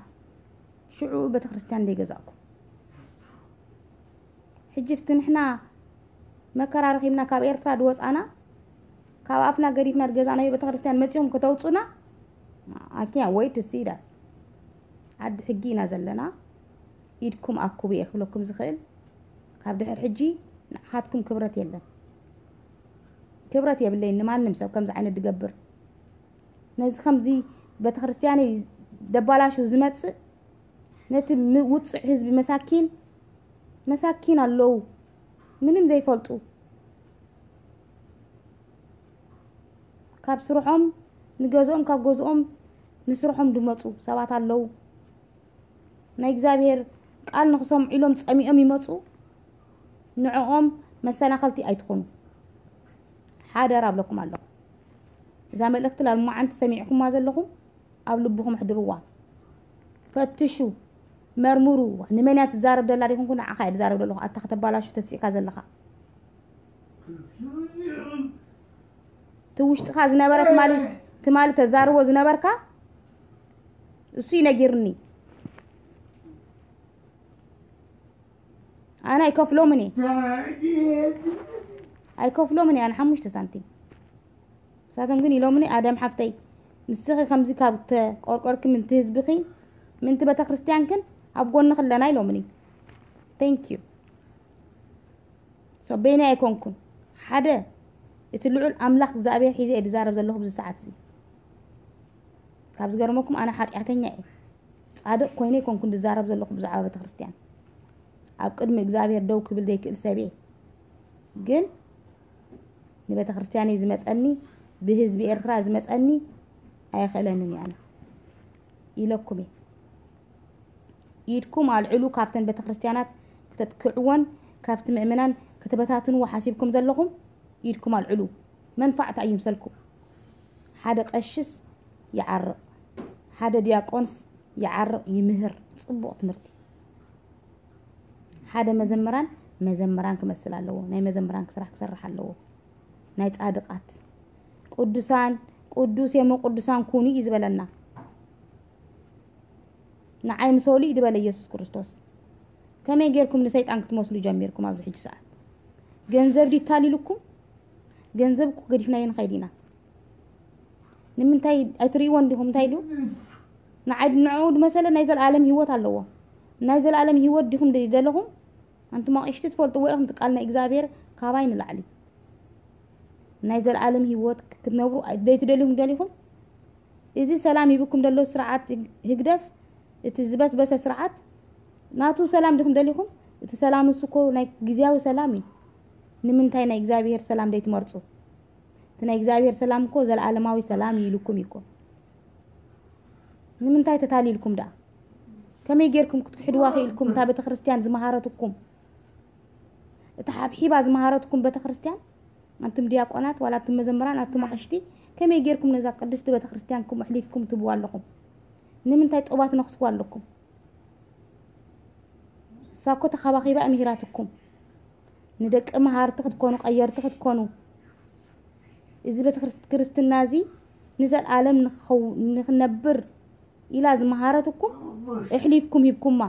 ሽዑ ቤተክርስትያን ዘይገዛእኩም? ሕጂ ፍቲ ንሕና መከራ ረኺብና ካብ ኤርትራ ድወፃና ካብ ኣፍና ገዲፍና ድገዛእናዮ ቤተክርስትያን መፂኹም ከተውፁና ኣኪያ ወይ ትስኢዳ ዓዲ ሕጊ ኢና ዘለና። ኢድኩም ኣኩቡ እየ ክብለኩም ዝኽእል። ካብ ድሕር ሕጂ ንዓኻትኩም ክብረት የለን። ክብረት የብለይን ንማንም ሰብ ከምዚ ዓይነት ድገብር። ነዚ ከምዚ ቤተክርስትያነይ ደባላሹ ዝመፅእ ነቲ ውፅዕ ህዝቢ መሳኪን መሳኪን ኣለዉ ምንም ዘይፈልጡ ካብ ስርሖም ንገዝኦም ካብ ገዝኦም ንስርሖም ድመፁ ሰባት ኣለዉ። ናይ እግዚኣብሔር ቃል ንክሰምዑ ኢሎም ፀሚኦም ይመፁ። ንዕኦም መሰናኸልቲ ኣይትኾኑ። ሓደራ ኣብለኩም ኣለኹ። እዛ መልእክቲ ላልማዓንቲ ሰሚዕኩማ ዘለኹም ኣብ ልብኹም ኣሕድርዋ። ፈትሹ፣ መርምሩ። ንመን እያ ትዛረብ ደላ ዲኹንኩ ንዓኻ እየ ዝዛረብ ዘለኹ። ኣታ ከተባላሹ ተሲእካ ዘለኻ እቲ ውሽጥኻ ዝነበረ ትማሊ ትማሊ ተዛርቦ ዝነበርካ እሱ ይነጊርኒ። ኣነ ኣይከፍሎምን እየ። ኣይከፍሎምን እየ ኣነ ሓሙሽተ ሳንቲም። ንሳቶም ግን ኢሎምኒ፣ ኣደም ሓፍተይ፣ ንስኺ ከምዚ ካብ ተቆርቆርኪ ምንቲ ህዝብኺ ምንቲ ቤተክርስትያንክን ኣብ ጎንኺ ኣለና ኢሎምኒ። Thank you። So በይነይ ኣይኮንኩን። ሓደ እቲ ልዑል ኣምላኽ እግዚኣብሔር ሒዘ እየ ዝዛረብ ዘለኹ ኣብዚ ሰዓት እዚ። ካብ ዝገርመኩም ኣነ ሓጢኣተኛ እየ። ጻድቕ ኮይነ ኣይኮንኩን ዝዛረብ ዘለኹ ብዛዕባ ቤተክርስትያን። ኣብ ቅድሚ እግዚኣብሔር ደው ክብል ዘይክእል ሰብ እየ። ግን ንቤተክርስትያነይ ዝመጸኒ፣ ብህዝቢ ኤርትራ ዝመጸኒ ኣየኽእለንን እየ ኣነ ኢለኩም እየ። ኢድኩም ኣልዕሉ፣ ካብተን ቤተክርስትያናት ክተጥቅዕወን ካብቲ ምእመናን ከተበታትንዎ ሓሲብኩም ዘለኹም ኢድኩም ኣልዕሉ። መንፋዕታ እዩ ምሰልኩም። ሓደ ቀሽስ ይዓርቕ፣ ሓደ ዲያቆንስ ይዓርቕ፣ ይምህር። ጽቡቕ ትምህርቲ። ሓደ መዘምራን መዘምራን ክመስል ኣለዎ። ናይ መዘምራን ስራሕ ክሰርሕ ኣለዎ። ናይ ጻድቓት ቅዱሳን ቅዱስ የሞ ቅዱሳን ኩኑ እዩ ዝበለና። ንዓይ ምሰሉ እዩ ዝበለ ኢየሱስ ክርስቶስ። ከመይ ጌርኩም ንሰይጣን ክትመስሉ ጀሚርኩም ኣብዚ ሕጂ ሰዓት? ገንዘብ ድዩ ታሊልኩም? ገንዘብ እኮ ገዲፍናዮ ንኸይድ ኢና። ንምንታይ ኣይትርእይዎን ዲኹም? እንታይ ኢሉ? ንዓይ ንዕኡ ድመሰለ ናይ ዘለኣለም ህይወት ኣለዎ። ናይ ዘለኣለም ህይወት ዲኹም ደለኹም? ኣንቱም ኣቕሽቲ ትፈልጥዎ ኢኹም፣ እቲ ቃል ናይ እግዚኣብሔር ካባይ ንላዕሊ። ናይ ዘለኣለም ህይወት ክትነብሩ ደይትደልዩም ደሊኹም? እዚ ሰላም ሂብኩም ደሎ ስርዓት ህግደፍ፣ እቲ ዝበስበሰ ስርዓት፣ ናቱ ሰላም ዲኹም ደሊኹም? እቲ ሰላም እሱ እኮ ናይ ግዝያዊ ሰላም እዩ። ንምንታይ ናይ እግዚኣብሔር ሰላም ደይትመርጹ? እቲ ናይ እግዚኣብሔር ሰላም እኮ ዘለኣለማዊ ሰላም እዩ ኢሉኩም እዩ እኮ። ንምንታይ ተታሊልኩም ደኣ? ከመይ ጌርኩም ክትክሕድዋ ክኢልኩም? እታ ቤተክርስትያን ዝመሃረትኩም፣ እታ ሓብሒባ ዝመሃረትኩም ቤተክርስትያን፣ ኣንቱም ዲያቆናት፣ ዋላ ኣቱም መዘምራን፣ ኣቱም ኣቕሽቲ፣ ከመይ ጌርኩም ነዛ ቅድስቲ ቤተክርስትያንኩም ኣሕሊፍኩም ትህብዋ ኣለኹም? ንምንታይ ጦባት ነኽስዋ ኣለኩም? እሳ እኮ ተኻባኺባ እያ ምሂራትኩም። ንደቂ መሃርቲ ክትኮኑ፣ ቀየርቲ ክትኮኑ፣ እዚ ቤተ ክርስት-፣ ክርስትና እዚ ንዘለኣለም ንኽኸው-፣ ንኽነብር ኢላ ዝመሃረትኩም ኣሕሊፍኩም ሂብኩማ።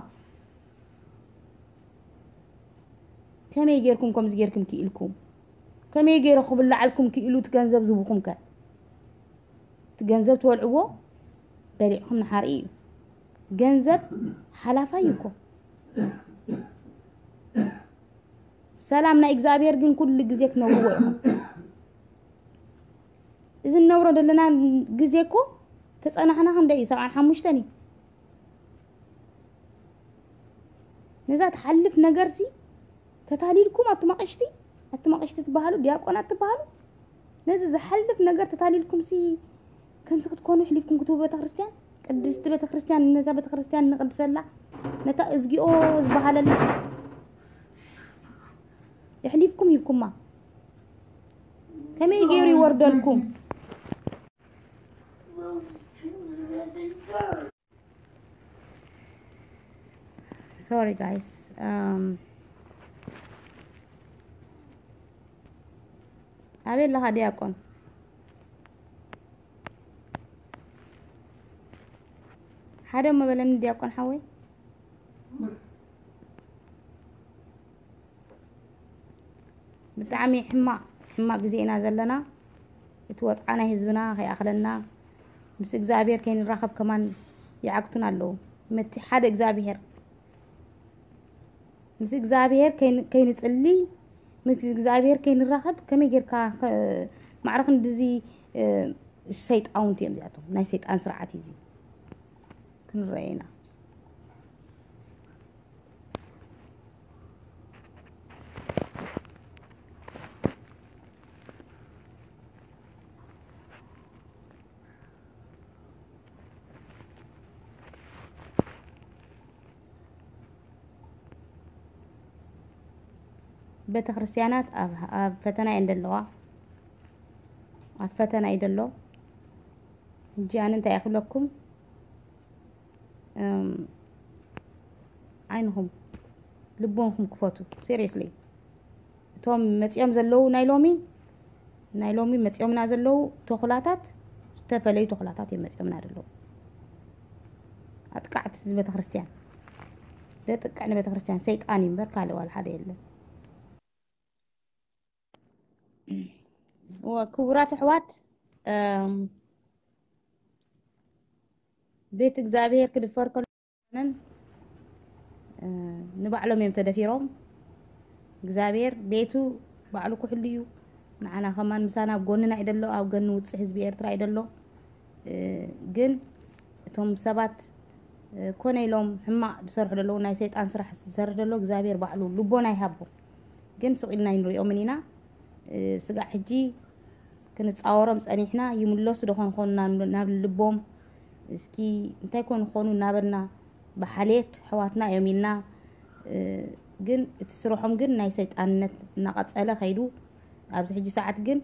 ከመይ ጌርኩም ከምዚ ጌርኩም ክኢልኩም? ከመይ ጌሩ ክብላዓልኩም ክኢሉ እቲ ገንዘብ ዝህብኹም ከ? እቲ ገንዘብ ትበልዕዎ በሊዕኹም ንሓርኢ እዩ። ገንዘብ ሓላፋይ እዩ እኮ። ሰላም ናይ እግዚኣብሔር ግን ኩሉ ግዜ ክትነብርዎ ኢኹም። እዚ እንነብሮ ዘለና ግዜ እኮ ተጸናሕና ክንደይ እዩ? ሰብዓን ሓሙሽተን እዩ። ነዛ ትሓልፍ ነገርሲ ተታሊልኩም ኣቱም ኣቕሽቲ፣ ኣቱም ኣቕሽቲ ትበሃሉ፣ ዲያቆናት ትበሃሉ፣ ነዚ ዝሓልፍ ነገር ተታሊልኩምሲ ከምዚ ክትኮኑ ኣሕሊፍኩም ክትህቡ ቤተክርስትያን፣ ቅድስቲ ቤተክርስትያን፣ ነዛ ቤተክርስትያን ንቅድሰላ፣ ነታ እዝጊኦ ዝበሃለላ ኣሕሊፍኩም ሂብኩማ። ከመይ ገይሩ ይወርደልኩም? Sorry guys. Um, ኣበይ ኣለኻ ዲያቆን? ሓደ እሞ በለኒ ዲያቆን ሓወይ። ብጣዕሚ ሕማቕ፣ ሕማቕ ግዜ ኢና ዘለና። እቲ ወጽዓ ናይ ህዝብና ከይኣኽለና፣ ምስ እግዚኣብሔር ከይንራኸብ ከማን ይዓግቱና ኣለዉ። መቲ ሓደ እግዚኣብሔር፣ ምስ እግዚኣብሔር ከይን-፣ ከይንጽሊ፣ ምስ እግዚኣብሔር ከይንራኸብ፣ ከመይ ጌርካ ኸ-፣ ማዕረ ክንድዚ፣ እ፣ ሰይጣውንቲ እዮም እዚኣቶም። ናይ ሰይጣን ስርዓት እዩ እዚ። ክንረአ ኢና። ቤተክርስትያናት ኣብ፣ ኣብ ፈተና እየን ዘለዋ። ኣብ ፈተና እዩ ዘሎ። ሕጂ ኣነ እንታይ እየ ክብለኩም? እም፣ ዓይንኹም ልቦንኹም ክፈቱ። Seriously። እቶም መጺኦም ዘለዉ ናይ ሎሚ፣ ናይ ሎሚ መጺኦምና ዘለዉ ተኹላታት፣ ዝተፈለዩ ተኹላታት እዮም መጺኦምና ዘለዉ። ኣጥቃዕቲ ቤተክርስትያን። ዘጥቅዕ ንቤተክርስትያን ሰይጣን እዩ እምበር ካልእ ዋላ ሓደ የለን። ክቡራት ኣሕዋት፣ ቤት እግዚኣብሔር ክድፈር ከሎ ንባዕሎም እዮም ተደፊሮም። እግዚኣብሔር ቤቱ ባዕሉ ክሕሉ እዩ። ንዓና ከማን ምሳና ኣብ ጎንና እዩ ደሎ፣ ኣብ ጎኒ ውፅዕ ህዝቢ ኤርትራ እዩ ደሎ። ግን እቶም ሰባት ኮነ ኢሎም ሕማቕ ዝሰርሑ ደለዉ፣ ናይ ሰይጣን ስራሕ ዝሰርሕ ደሎ እግዚኣብሔር ባዕሉ ልቦና ይሃቦ። ግን ስቕ ኢልና ኣይንሪኦምን ኢና። ስጋዕ ሕጂ ክንፃወሮም ፀኒሕና፣ ይምለሱ ዶ ኾን ኾኑ ናብ ልቦም? እስኪ እንታይ ኮን ኾኑ እናበልና ብሓልየት ኣሕዋትና እዮም ኢልና። ግን እቲ ስርሖም ግን ናይ ሰይጣንነት እናቐፀለ ከይዱ ኣብዚ ሕጂ ሰዓት ግን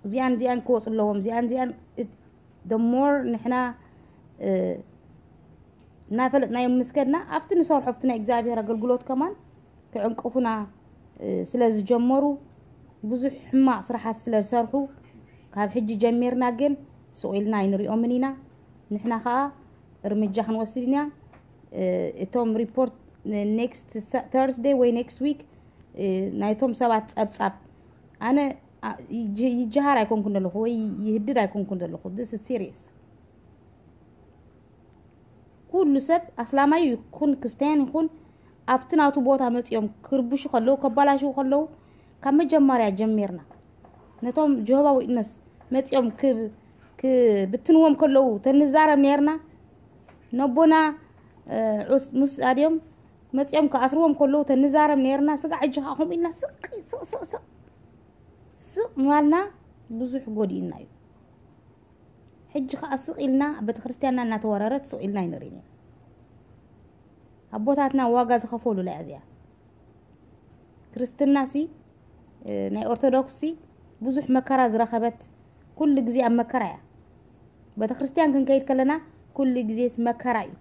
እዚኣን እዚኣን ክወፁ ኣለዎም፣ እዚኣን እዚኣን the more ንሕና እናፈለጥናዮም ምስ ከድና ኣብቲ ንሰርሖ ኣብቲ ናይ እግዚኣብሔር ኣገልግሎት ከማን ክዕንቅፉና ስለ ዝጀመሩ ብዙሕ ሕማቕ ስራሓት ስለ ዝሰርሑ ካብ ሕጂ ጀሚርና ግን ስቕ ኢልና ኣይንሪኦምን ኢና። ንሕና ከዓ እርምጃ ክንወስድ ኢና። እቶም ሪፖርት next Thursday ወይ next week ናይቶም ሰባት ፀብፃብ ኣነ ይጀሃር ኣይኮንኩን ዘለኹ ወይ ይህድድ ኣይኮንኩን ዘለኹ። This is serious። ኩሉ ሰብ ኣስላማይ ይኹን ክርስትያን ይኹን ኣብቲ ናቱ ቦታ መፂኦም ክርብሹ ከለዉ ከባላሽዉ ከለዉ ካብ መጀመርያ ጀሚርና ነቶም ጀሆባ ዊትነስ መፂኦም ክብትንዎም ከለዉ ተንዛረብ ነርና። ነቦና ሙሳ ድዮም መፂኦም ክኣስርዎም ከለዉ ተንዛረብ ነርና። ስጋ ሕጂ ከዓ ከምኡ ኢልና ስቕ ስቕ ስቕ ስቕ ስቕ ምባልና ብዙሕ ጎዲእና እዩ። ሕጂ ከዓ ስቕ ኢልና ቤተክርስትያንና እናተወረረት ስቕ ኢልና ኣይንርእን ኢና። ኣቦታትና ዋጋ ዝኸፈሉላ እያ እዚኣ። ክርስትናሲ ናይ ኦርቶዶክስሲ ብዙሕ መከራ ዝረኸበት ኩሉ ግዜ ኣብ መከራ እያ። ቤተክርስትያን ክንከይድ ከለና ኩሉ ግዜስ መከራ እዩ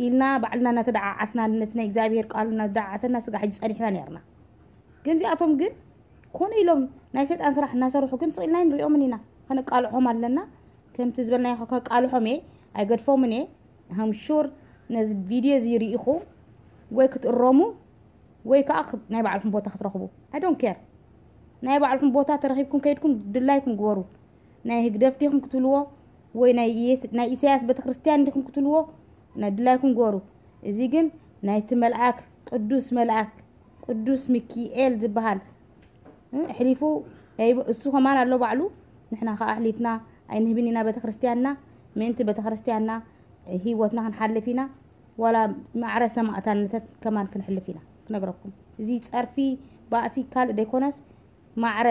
ኢልና ባዕልና እናተደዓዓስና ነቲ ናይ እግዚኣብሔር ቃል እናተደዓዓሰና ስጋ ሕጂ ጸኒሕና ነርና። ግን እዚኣቶም ግን ኮነ ኢሎም ናይ ሰይጣን ስራሕ እናሰርሑ ግን ስቕ ኢልና ንሪኦምን ኢና። ከነቃልዖም ኣለና። ከምቲ ዝበልናዮ ከቃልሖም እየ፣ ኣይገድፎምን እየ። I'm sure ነዚ ቪድዮ እዚ ርኢኹ ወይ ክትእረሙ ወይ ከዓ ናይ ባዕልኹም ቦታ ክትረኽቡ። I don't care። ናይ ባዕልኹም ቦታ ተረኺብኩም ከይድኩም ድላይኩም ግበሩ። ናይ ህግደፍ ዲኹም ክትብልዎ ወይ ናይ ኢሳያስ ቤተክርስትያን ዲኹም ክትብልዎ ናይ ድላይኩም ግበሩ። እዚ ግን ናይቲ መልኣክ ቅዱስ መልኣክ ቅዱስ ሚኪኤል ዝበሃል ኣሕሊፉ እሱ ከማን ኣሎ ባዕሉ። ንሕና ከዓ ኣሕሊፍና ኣይንህብን ኢና ቤተክርስትያንና። ምእንቲ ቤተክርስትያንና ህይወትና ክንሓልፍ ኢና። ዋላ ማዕረ ሰማእታነተት ከማን ክንሕልፍ ኢና ክነግረኩም። እዚ ፀርፊ ባእሲ ካልእ ደይኮነስ ማዕረ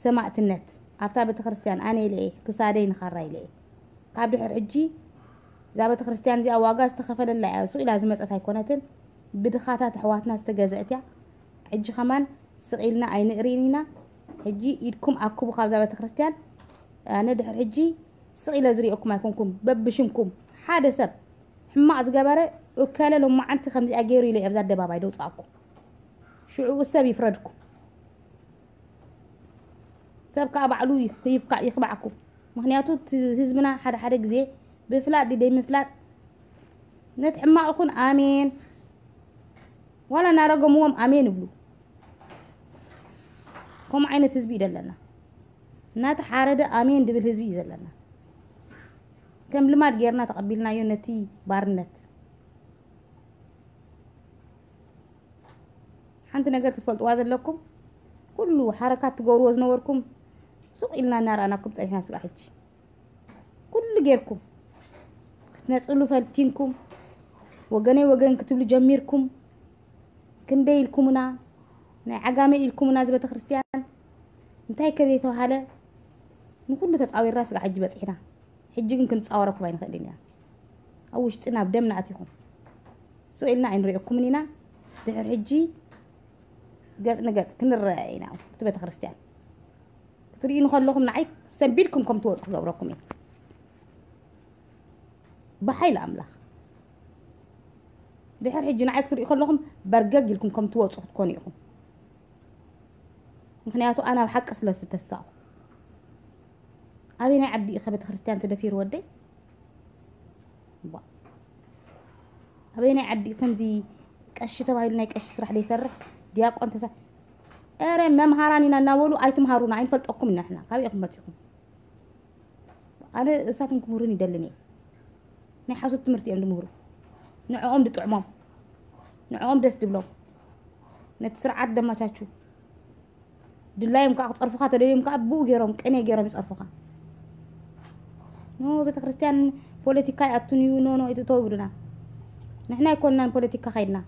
ሰማእትነት ኣብታ ቤተክርስትያን ኣነ ኢለ እየ ክሳደይ ንኻራ ኢለ እየ። ካብ ድሕር ሕጂ እዛ ቤተክርስትያን እዚኣ ዋጋ ዝተኸፈለላ እያ። ሱቕ ኢላ ዝመፀት ኣይኮነትን። ብድኻታት ኣሕዋትና ዝተገዘእት እያ። ሕጂ ከማን ስቕ ኢልና ኣይንእሪን ኢና። ሕጂ ኢድኩም ኣክቡ ካብዛ ቤተክርስትያን። ኣነ ድሕር ሕጂ ስቕ ኢለ ዝሪኦኩም ኣይኮንኩም። በብሽምኩም ሓደ ሰብ ሕማቕ ዝገበረ እከለ ሎማዓንቲ ከምዚኣ ገይሩ ኢለ እየ ኣብዚ ኣደባባይ ደውፃእኩም። ሽዑኡ ሰብ ይፍረድኩም። ሰብ ከዓ ባዕሉ ይኽባዕኩም። ምክንያቱ ህዝብና ሓደ ሓደ ግዜ ብፍላጥ ድደይ ምፍላጥ ነቲ ሕማቕ ይኹን ኣሜን ዋላ እናረገምዎም ኣሜን ይብሉ። ከምኡ ዓይነት ህዝቢ እዩ ዘለና። እናተሓረደ ኣሜን ድብል ህዝቢ እዩ ዘለና። ከም ልማድ ጌርና ተቐቢልናዮ ነቲ ባርነት። ሓንቲ ነገር ክትፈልጥዋ ዘለኩም ኩሉ ሓረካት ትገብርዎ ዝነበርኩም ሱቕ ኢልና እናረኣናኩም ፀኒሕና ስጋ ሕጂ ኩሉ ጌርኩም ክትነፅሉ ፈቲንኩም ወገነይ ወገን ክትብሉ ጀሚርኩም። ክንደይ ኢልኩምና ናይ ዓጋመ ኢልኩምና እዚ ቤተክርስትያን እንታይ ከዘይተባሃለ ንኩሉ ተፃዊርና ስጋ ሕጂ በፂሕና። ሕጂ ግን ክንፃወረኩም ኣይንኽእልን ኢና። ኣብ ውሽጥና ኣብ ደምና ኣቲኹም ስቕ ኢልና ኣይንሪኦኩምን ኢና። ድሕር ሕጂ ገፅ ንገፅ ክንረአ ኢና። እቲ ቤተክርስትያን ክትርእዩ ንከለኹም ንዓይ ሰንቢድኩም ከም ትወፁ ክገብረኩም እዩ። ብሓይሊ ኣምላኽ ድሕር ሕጂ ንዓይ ክትርእዩ ከለኹም በርገግ ኢልኩም ከም ትወፁ ክትኮኑ ኢኹም። ምክንያቱ ኣነ ኣብ ሓቂ ስለ ዝተሳቑ። ኣበይ ናይ ዓዲ ኢኸ ቤተክርስትያን ተደፊሩ ወደይ? ኣበይ ናይ ዓዲ ከምዚ ቀሺ ተባሂሉ ናይ ቀሺ ስራሕ ዘይሰርሕ፣ ዲያቆን ተሳ-፣ ኧረ መምሃራን ኢና እናበሉ ኣይትምሃሩና፣ ኣይንፈልጠኩም ኢና ንሕና። ካበይ ኢኹም መጺኹም? ኣነ እሳቶም ክምህሩን ይደልን እየ። ናይ ሓሶት ትምህርቲ እዮም ዝምህሩ። ንዕኦም ዝጥዕሞም፣ ንዕኦም ደስ ዝብሎም፣ ነቲ ስርዓት ደማቻቹ። ድላዮም ከዓ ክጸርፉኻ ተደልዮም ከዓ ብኡ ገይሮም፣ ቅኔ ገይሮም ይጸርፉኻ። ኖ፣ ቤተክርስትያን ፖለቲካ ይኣቱን እዩ፣ ኖ፣ ኖ፣ ኣይትእተው ይብሉና። ንሕና ኣይኮንናን ፖለቲካ ከይድና።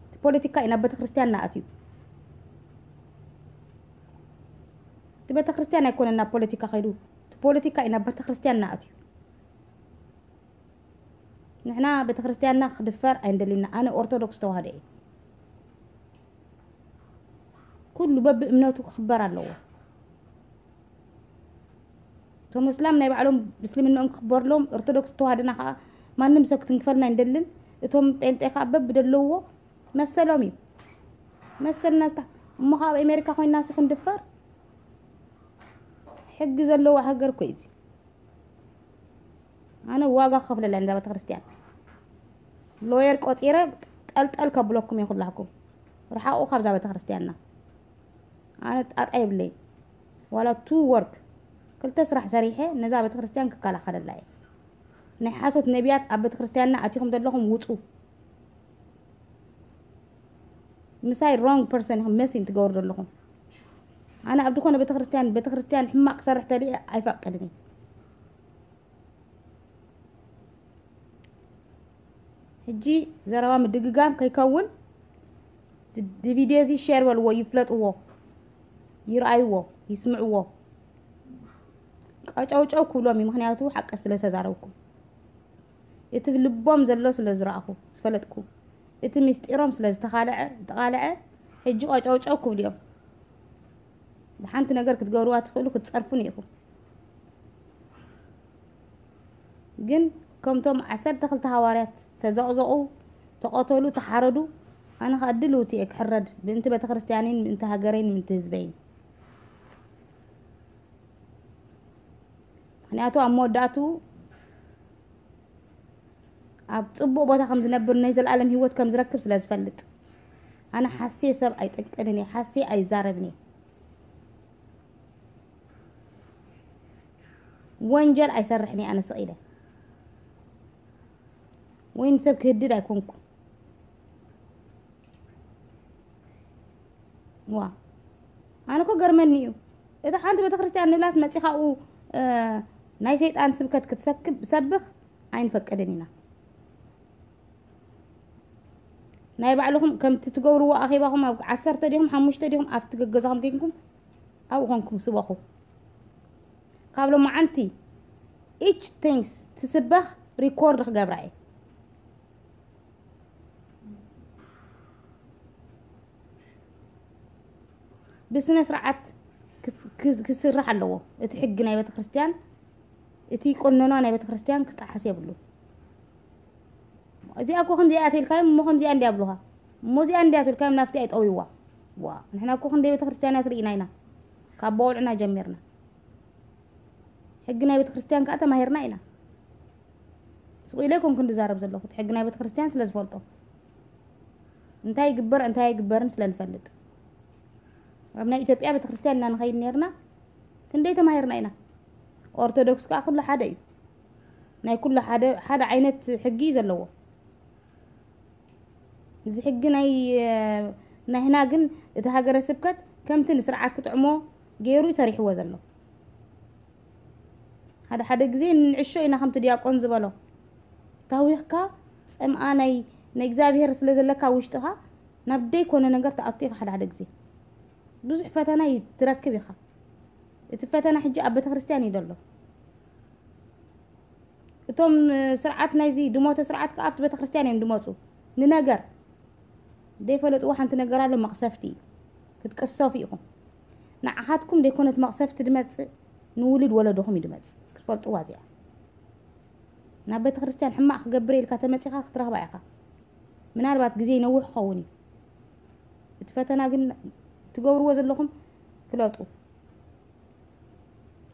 እቲ ፖለቲካ እዩ ናብ ቤተክርስትያን እናኣትዩ። እቲ ቤተክርስትያን ኣይኮነን ናብ ፖለቲካ ከይዱ፣ እቲ ፖለቲካ እዩ ናብ ቤተክርስትያን እናኣትዩ። ንሕና ቤተክርስትያንና ክድፈር ኣይንደሊና። ኣነ ኦርቶዶክስ ተዋህዶ እየ። ኩሉ በብእምነቱ ክኽበር ኣለዎ። እቶም እስላም ናይ ባዕሎም ምስልምናኦም ክኽበርሎም፣ ኦርቶዶክስ ተዋህዶና ከዓ ማንም ሰብ ክትንክፈልና ኣይንደልን። እቶም ጴንጤ ከዓ በብደለዎ መሰሎም እዩ። መሰልና ዝታ-፣ እሞ ካብ ኣሜሪካ ኮይና ሲ ክንድፈር? ሕጊ ዘለዎ ሃገር እኮ እዩ እዚ። ኣነ ዋጋ ክኸፍለላ እዛ ቤተክርስትያን። ሎየር ቆጺረ ጠልጠል ከብለኩም እየ ኩላኩም። ርሓቑ ካብዛ ቤተክርስትያንና። ኣነ ጣጣ የብለይ። ዋላ ቱ ወርክ፣ ክልተ ስራሕ ሰሪሐ ነዛ ቤተክርስትያን ክከላኸለላ እየ። ናይ ሓሶት ነቢያት ኣብ ቤተክርስትያንና ኣቲኹም ዘለኹም ውጹ። ምሳይ ሮንግ ፐርሰን ኢኹም መሲን ትገብሩ ዘለኹም። ኣነ ኣብ ዝኾነ ቤተክርስትያን፣ ቤተክርስትያን ሕማቕ ክሰርሕ ተልየ ኣይፈቅድን እየ። ሕጂ ዘረባ ምድግጋም ከይከውን፣ እዚ ቪድዮ እዚ ሼር በልዎ፣ ይፍለጥዎ፣ ይርኣይዎ፣ ይስምዕዎ። ቀጨውጨው ክብሎም እዩ፣ ምኽንያቱ ሓቂ ስለ ተዛረብኩ። እቲ ልቦም ዘሎ ስለ ዝረኣኹ፣ ዝፈለጥኩ። እቲ ምስጢሮም ስለ ዝተኻልዐ፣ ዝተቓልዐ፣ ሕጂ ቀጨውጨው ክብሉ እዮም። ሓንቲ ነገር ክትገብርዋ ትኽእሉ፣ ክትጸርፉን ኢኹም። ግን ከምቶም ዓሰርተ ክልተ ሃዋርያት ተዘቕዘቑ፣ ተቐተሉ፣ ተሓረዱ፣ ኣነ ኸኣ ድልውቲ እየ ክሕረድ፣ ምእንቲ ቤተክርስትያነይን፣ ምእንቲ ሃገረይን፣ ምእንቲ ህዝበይን። ምኽንያቱ ኣብ መወዳእቱ ኣብ ጽቡቕ ቦታ ከም ዝነብር፣ ናይ ዘለኣለም ህይወት ከም ዝረክብ ስለ ዝፈልጥ። ኣነ ሓስየ ሰብ ኣይጠቅንን እየ፣ ሓስየ ኣይዛረብን እየ። ወንጀል ኣይሰርሕን እየ ኣነ ስቕ ኢለ። ወይ ንሰብ ክህድድ ኣይኮንኩ። ዋ፣ ኣነ እኮ ገርመኒ እዩ። እታ ሓንቲ ቤተክርስትያን ንብላስ መጺኻ ኣብኡ፣ እ፣ ናይ ሰይጣን ስብከት ክትሰክብ-፣ ሰብኽ ኣይንፈቅድን ኢና። ናይ ባዕልኹም ከምቲ ትገብርዎ ኣኼባኹም ኣብ ዓሰርተ ዲኹም ሓሙሽተ ዲኹም ኣብቲ ገገዛኹም ጌግኩም ኣብኡ ኾንኩም ስበኹ። ካብ ሎማዓንቲ each things ትስበኽ ሪኮርድ ክገብራ እየ። ብስነ ስርዓት ክስ-፣ ክስ-፣ ክስራሕ ኣለዎ። እቲ ሕጊ ናይ ቤተክርስትያን፣ እቲ ቆነኗ ናይ ቤተክርስትያን ክጠሓስ የብሉ። እዚኣ እኮ ከምዚኣ እያ ተልካዮም እሞ ከምዚኣ እንዲያ ብሉኻ። እሞ እዚኣ እንዲያ ተልካዮም ናብቲ ኣይጠውይዋ። ዋ፣ ንሕና እኮ ክንደይ ቤተክርስትያን እያ ትርኢና ኢና። ካብ በቆልዕና ጀሚርና። ሕጊ ናይ ቤተክርስትያን ከኣ ተማሂርና ኢና። ስቕ ኢለ ኣይኮንኩን ዝዛረብ ዘለኹ፣ እቲ ሕጊ ናይ ቤተክርስትያን ስለ ዝፈልጦ። እንታይ ይግበር፣ እንታይ ኣይግበርን ስለ ንፈልጥ። ኣብ ናይ ኢትዮጵያ ቤተክርስትያን ኢና ንኸይድ ነርና፣ ክንደይ ተማሂርና ኢና። ኦርቶዶክስ ከኣ ኩሉ ሓደ እዩ። ናይ ኩሉ ሓደ፣ ሓደ ዓይነት ሕጊ እዩ ዘለዎ። እዚ ሕጊ ናይ፣ እ፣ ናይና ግን እቲ ሃገረ ስብከት ከምቲ ንስርዓት ክጥዕሞ ገይሩ እዩ ሰሪሕዎ ዘሎ። ሓደ ሓደ ግዜ ንዕሾ ኢና ከምቲ ዲያቆን ዝበሎ። ታዊኽካ ጸምኣ ናይ፣ ናይ እግዚኣብሔር ስለ ዘለካ ውሽጥኻ ናብ ደይኮነ ነገር ትኣቱ ኢኻ ሓደ ሓደ ግዜ። ብዙሕ ፈተና ይ-፣ ትረክብ ኢኻ። እቲ ፈተና ሕጂ ኣብ ቤተክርስትያን እዩ ዘሎ። እቶም፣ እ፣ ስርዓት ናይዚ ድሞተ ስርዓት ከኣ ኣብቲ ቤተክርስትያን እዮም ድመጹ። ንነገር ዘይፈለጥዎ ሓንቲ ነገር ኣሎ፣ መቕሰፍቲ እዩ። ክትቅሰፉ ኢኹም። ንዓኻትኩም ዘይኮነ እቲ መቕሰፍቲ ድመጽእ፣ ንውሉድ ወለዶኹም እዩ ድመጽእ። ክትፈልጥዋ እዚኣ። ናብ ቤተክርስትያን ሕማቕ ክገብር ኢልካ ተመጺኻ ክትረኽባ ኢኻ። ምናልባት ግዜ ይነውሕ ክኸውን እዩ። እቲ ፈተና ግን ትገብርዎ ዘለኹም ፍለጡ።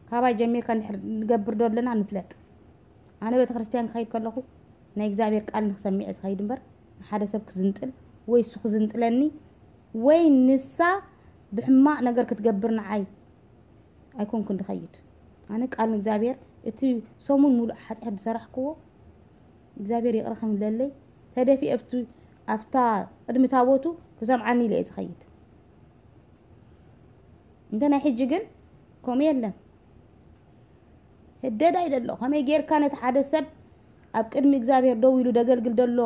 ካባይ ጀሚርካ እንድሕር ንገብር ዶ ኣለና ንፍለጥ። ኣነ ቤተክርስትያን ክኸይድ ከለኹ ናይ እግዚኣብሔር ቃል ንክሰሚዕ ዝኸይድ እምበር ንሓደ ሰብ ክዝንጥል ወይ እሱ ክዝንጥለኒ ወይ ንሳ ብሕማቕ ነገር ክትገብር ንዓይ ኣይኮንኩን ድኸይድ። ኣነ ቃል ንእግዚኣብሔር እቲ ሰሙን ሙሉእ ሓጢኣት ዝሰራሕክዎ እግዚኣብሔር ይቕረ ከምለለይ ተደፊ ኣብቲ ኣብታ ቅድሚ ታቦቱ ክሰምዓኒ ኢለ እየ ዝኸይድ። እንተ ናይ ሕጂ ግን ከምኡ የለን። ህደዳ እዩ ደሎ። ከመይ ጌርካ ነቲ ሓደ ሰብ ኣብ ቅድሚ እግዚኣብሔር ደው ኢሉ ደገልግል ደሎ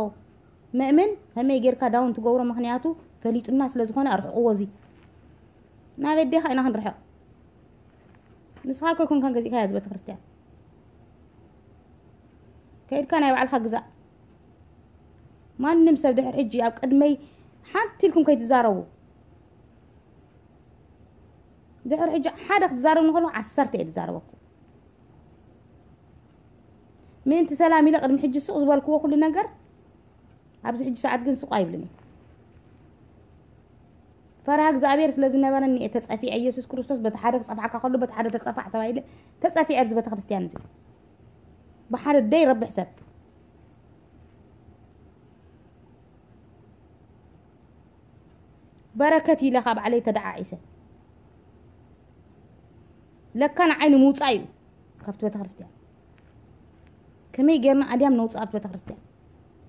መእምን ከመይ ጌርካ ዳውን ትገብሮ? ምኽንያቱ ፈሊጡና ስለ ዝኾነ ኣርሕቕዎ። እዚ ናብ ኣዴኻ ኢና ክንርሕቕ። ንስኻ እኮ ኣይኮንካን ገዚእካያ እዚ ቤተክርስትያን። ከይድካ ናይ ባዕልኻ ግዛእ። ማንም ሰብ ድሕር ሕጂ ኣብ ቅድመይ ሓንቲ ኢልኩም ከይትዛረቡ። ድሕር ሕጂ ሓደ ክትዛረብ ንኸሎ ዓሰርተ እየ ዝዛረበኩም። ምእንቲ ሰላም ኢለ ቅድሚ ሕጂ ሱቕ ዝበልክዎ ኩሉ ነገር ኣብዚ ሕጂ ሰዓት ግን ሱቕ ኣይብልን እየ። ፈርሃ እግዚኣብሔር ስለ ዝነበረኒ እየ ተጸፊዐ። ኢየሱስ ክርስቶስ በቲ ሓደ ክጸፍዓካ ከሎ በቲ ሓደ ተጸፋዕ ተባሂለ ተጸፊዐ ኣብዚ ቤተክርስትያን እዚ። ብሓደ ደይ ረብሕ ሰብ በረከት ኢለ ካብ ዓለይ ተደዓዒሰ። ለካ ንዓይ ንምውጻእ እዩ ካብቲ ቤተክርስትያን። ከመይ ጌርና ኣድያም ነውጽእ ኣብቲ ቤተክርስትያን?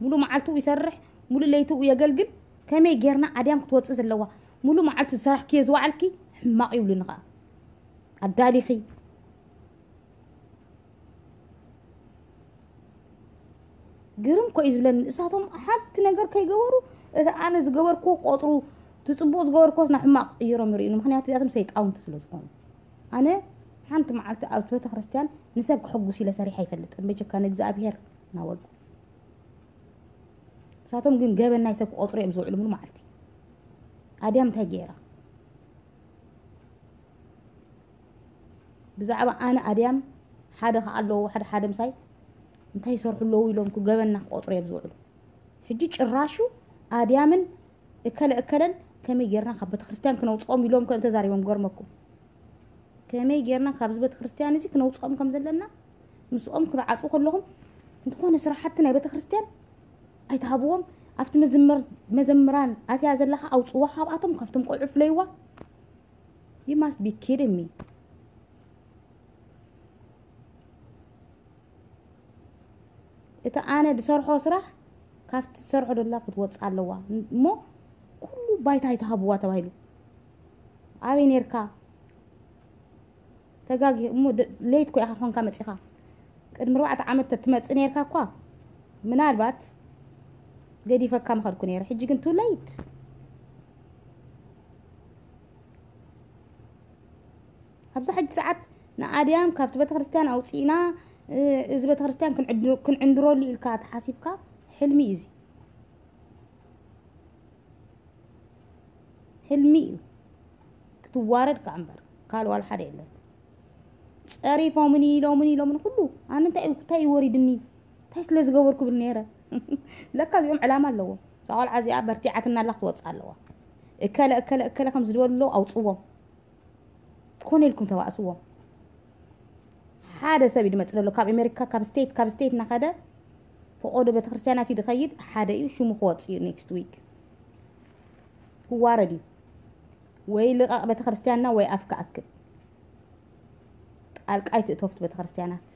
ሙሉ መዓልቱ ይሰርሕ፣ ሙሉ ለይቱ የገልግል። ከመይ ጌርና ኣድያም ክትወጽእ ዘለዋ? ሙሉ መዓልቲ ዝሰራሕክዮ ዝወዓልኪ ሕማቕ ይብሉኒ ኸኣ። ኣዳሊኺ ግርም እኮ እዩ ዝብለኒ። እሳቶም ሓንቲ ነገር ከይገበሩ እቲ ኣነ ዝገበርክዎ ቆጥሩ፣ እቲ ጽቡቕ ዝገበርክዎስ ናብ ሕማቕ ቅይሮም ይርእዩኒ። ምኽንያቱ እዚኣቶም ሰይጣውንቲ ስለ ዝኾኑ። ኣነ ሓንቲ መዓልቲ ኣብቲ ቤተ ክርስቲያን ንሰብ ክሕጉስ ኢለ ሰሪሐ ኣይፈልጥን። በጀካ ንእግዚኣብሔር እናበልኩ። እሳቶም ግን ገበን ናይ ሰብ ክቆጥሩ እዮም ዝውዕሉ ሙሉ መዓልቲ። ኣድያም እንታይ ገይራ? ብዛዕባ ኣነ ኣድያም ሓደ ከኣ ኣለዎ፣ ሓደ ሓደ ምሳይ እንታይ ይሰርሑ ኣለዉ ኢሎም ገበንና ክቆጥሩ እዮም ዝውዕሉ። ሕጂ ጭራሹ ኣድያምን እከለ እከለን ከመይ ጌርና ካብ ቤተክርስትያን ክነውፅኦም ኢሎም ከም ተዛሪቦም ገርመኩም። ከመይ ጌርና ካብዚ ቤተክርስትያን እዚ ክነውፅኦም ከም ዘለና ምስኦም ክትዓፅው ከለኹም እንተኾነ ስራሕቲ ናይ ቤተክርስትያን ኣይትሃብዎም። ኣብቲ መዘምር መዘምራን ኣትያ ዘለኻ ኣውፅዋ ካብኣቶም ካብቶም ቆልዑ ፍለይዋ። You must be kidding me። እቲ ኣነ ዝሰርሖ ስራሕ ካብቲ ትሰርሖ ደላ ክትወፅእ ኣለዋ እሞ ኩሉ ባይታ ኣይትሃብዋ ተባሂሉ። ኣበይ ነርካ? ተጋጊ እሞ ደ- ለይት ኮ ኢኻ ኮንካ መፂኻ። ቅድሚ ኣርባዕተ ዓመት ተትመፅእ ነርካ እኳ ምናልባት ገዲፈካ ምኸድኩ ነይረ። ሕጂ ግን too late። ኣብዛ ሕጂ ሰዓት ንኣድያም ካብቲ ቤተክርስትያን ኣውፂእና እ፣ እዚ ቤተክርስትያን ክንዕድ- ክንዕንድረሉ ኢልካ ተሓሲብካ ሕልሚ እዩ እዚ። ሕልሚ እዩ። ክትዋረድ ከዓ እምበር ካልእ ዋላ ሓደ የለን። ፀሪፎምኒ ኢሎምኒ ኢሎምኒ ኩሉ ኣነ እንታይ እንታይ እዩ ወሪድኒ እንታይ ስለ ዝገበርኩ ብል ነይረ። ለካ እዚኦም ዕላማ ኣለዎም። እዛ ቆልዓ እዚኣ በርቲዓትና ኣላ ክትወፅእ ኣለዋ። እከለ እከለ እከለ ከም ዝድበሉ ኣለዉ ኣውፅዎም። ኮነ ኢልኩም ተባእስዎም። ሓደ ሰብ እዩ ዝመፅእ ዘሎ ካብ ኣሜሪካ ካብ ስቴት ካብ ስቴት እናኸደ ፈቆዶ ቤተክርስትያናት እዩ ዝኸይድ ሓደ እዩ ሽሙ ክወፅእ እዩ next week። ክዋረድ እዩ። ወይ ልቐቕ ቤተክርስትያንና ወይ ኣፍካ ኣክብ። ጣልቃ ኣይትእተፍቱ ቤተክርስትያናት።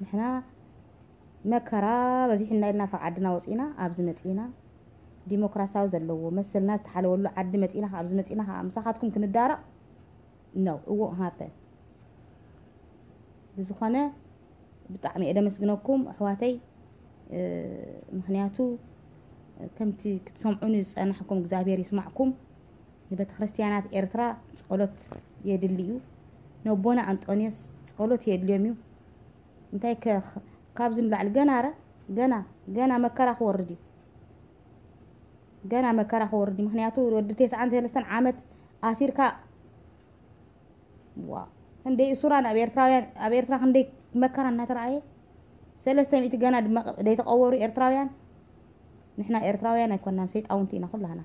ንሕና መከራ በዚሑና ኢልና ካብ ዓድና ወፂና ኣብዚ መፂና ዲሞክራሲያዊ ዘለዎ መሰልና ዝተሓለወሉ ዓዲ መፂና ኣብዚ መፂና ከዓ ምሳኻትኩም ክንዳረቕ no it won't happen። ብዝኾነ ብጣዕሚ እየ ደመስግነኩም ኣሕዋተይ። ምኽንያቱ ከምቲ ክትሰምዑኒ ዝፀናሕኩም እግዚኣብሔር ይስማዕኩም። ንቤተ ክርስቲያናት ኤርትራ ጸሎት የድሊ እዩ። ነቦና ኣንጦንዮስ ጸሎት የድልዮም እዩ። እንታይ ከ ካብዚ ንላዕሊ ገና ረ ገና ገና መከራ ክወርድ እዩ። ገና መከራ ክወርድ እዩ። ምኽንያቱ ወዲ ተስዓን ሰለስተን ዓመት ኣሲርካ ዋ ክንደይ እሱራን ኣብ ኤርትራውያን ኣብ ኤርትራ ክንደይ መከራ እናተረኣየ ሰለስተ ሚእቲ ገና ድማ ዘይተቐበሩ ኤርትራውያን። ንሕና ኤርትራውያን ኣይኮናን ሰይጣውንቲ ኢና ኩላህና።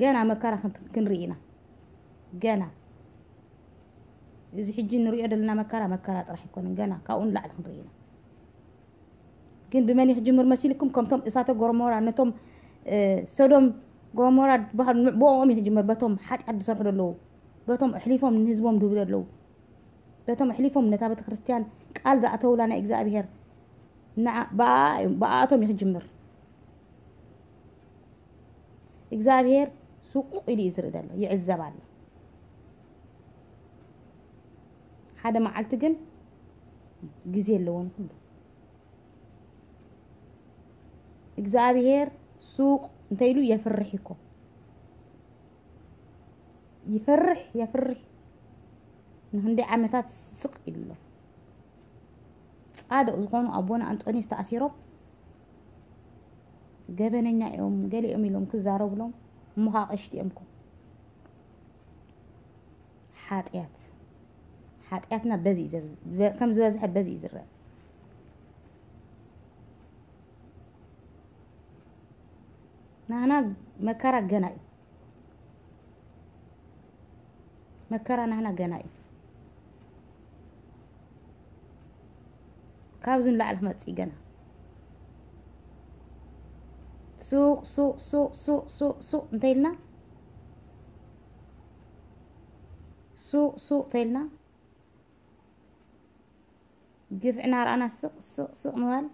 ገና መከራ ክን- ክንርኢ ኢና። ገና እዚ ሕጂ ንሪኦ ዘለና መከራ መከራ ጥራሕ ኣይኮነን። ገና ካብኡ ንላዕሊ ክንርኢ ኢና። ግን ብመን እዩ ክጅምር መሲልኩም? ከምቶም እሳተ ጎሞራ፣ ነቶም፣ እ፣ ሶዶም ጎሞራ ዝበሃሉ፣ ብኦም እዩ ክጅምር፣ በቶም ሓጢኣት ዝሰርሑ ዘለዉ፣ በቶም ኣሕሊፎም ንህዝቦም ዝህቡ ዘለዉ፣ በቶም ኣሕሊፎም ነታ ቤተ ክርስቲያን ቃል ዝኣተውላ ናይ እግዚኣብሔር፣ ንዓ-፣ ብኣ-፣ ብኣኣቶም እዩ ክጅምር። እግዚኣብሔር ሱቕ ኢሉ እዩ ዝርኢ ዘሎ፣ ይዕዘብ ኣሎ። ሓደ መዓልቲ ግን ግዜ ኣለዎ ንኹሉ። እግዚኣብሔር ሱቕ እንተ ኢሉ የፍርሕ እኮ። ይፈርሕ፣ የፍርሕ። ንክንደይ ዓመታት ስቕ ኢሉ ኣሎ። ጻድቕ ዝኾኑ ኣቦና ኣንጦንዮስ ተኣሲሮም፣ ገበነኛ እዮም፣ ገሊኦም ኢሎም ክዛረቡሎም፣ እሞ ከዓ ቀሽቲ እዮም እኮ። ሓጢኣት፣ ሓጢኣትና በዚ እዩ ዘብ-፣ በ-፣ ከም ዝበዝሐ በዚ እዩ ዝረአ። ናህና መከራ ገና እዩ። መከራ ናህና ገና እዩ። ካብዚ ንላዕሊ ክመጽእ እዩ ገና። ሱቕ፣ ሱቕ፣ ሱቕ፣ ሱቕ፣ ሱቕ፣ ሱቕ እንተኢልና፣ ሱቕ፣ ሱቕ እንተኢልና፣ ግፍዕና ረኣና ስቕ፣ ስቕ፣ ስቕ ምባል፣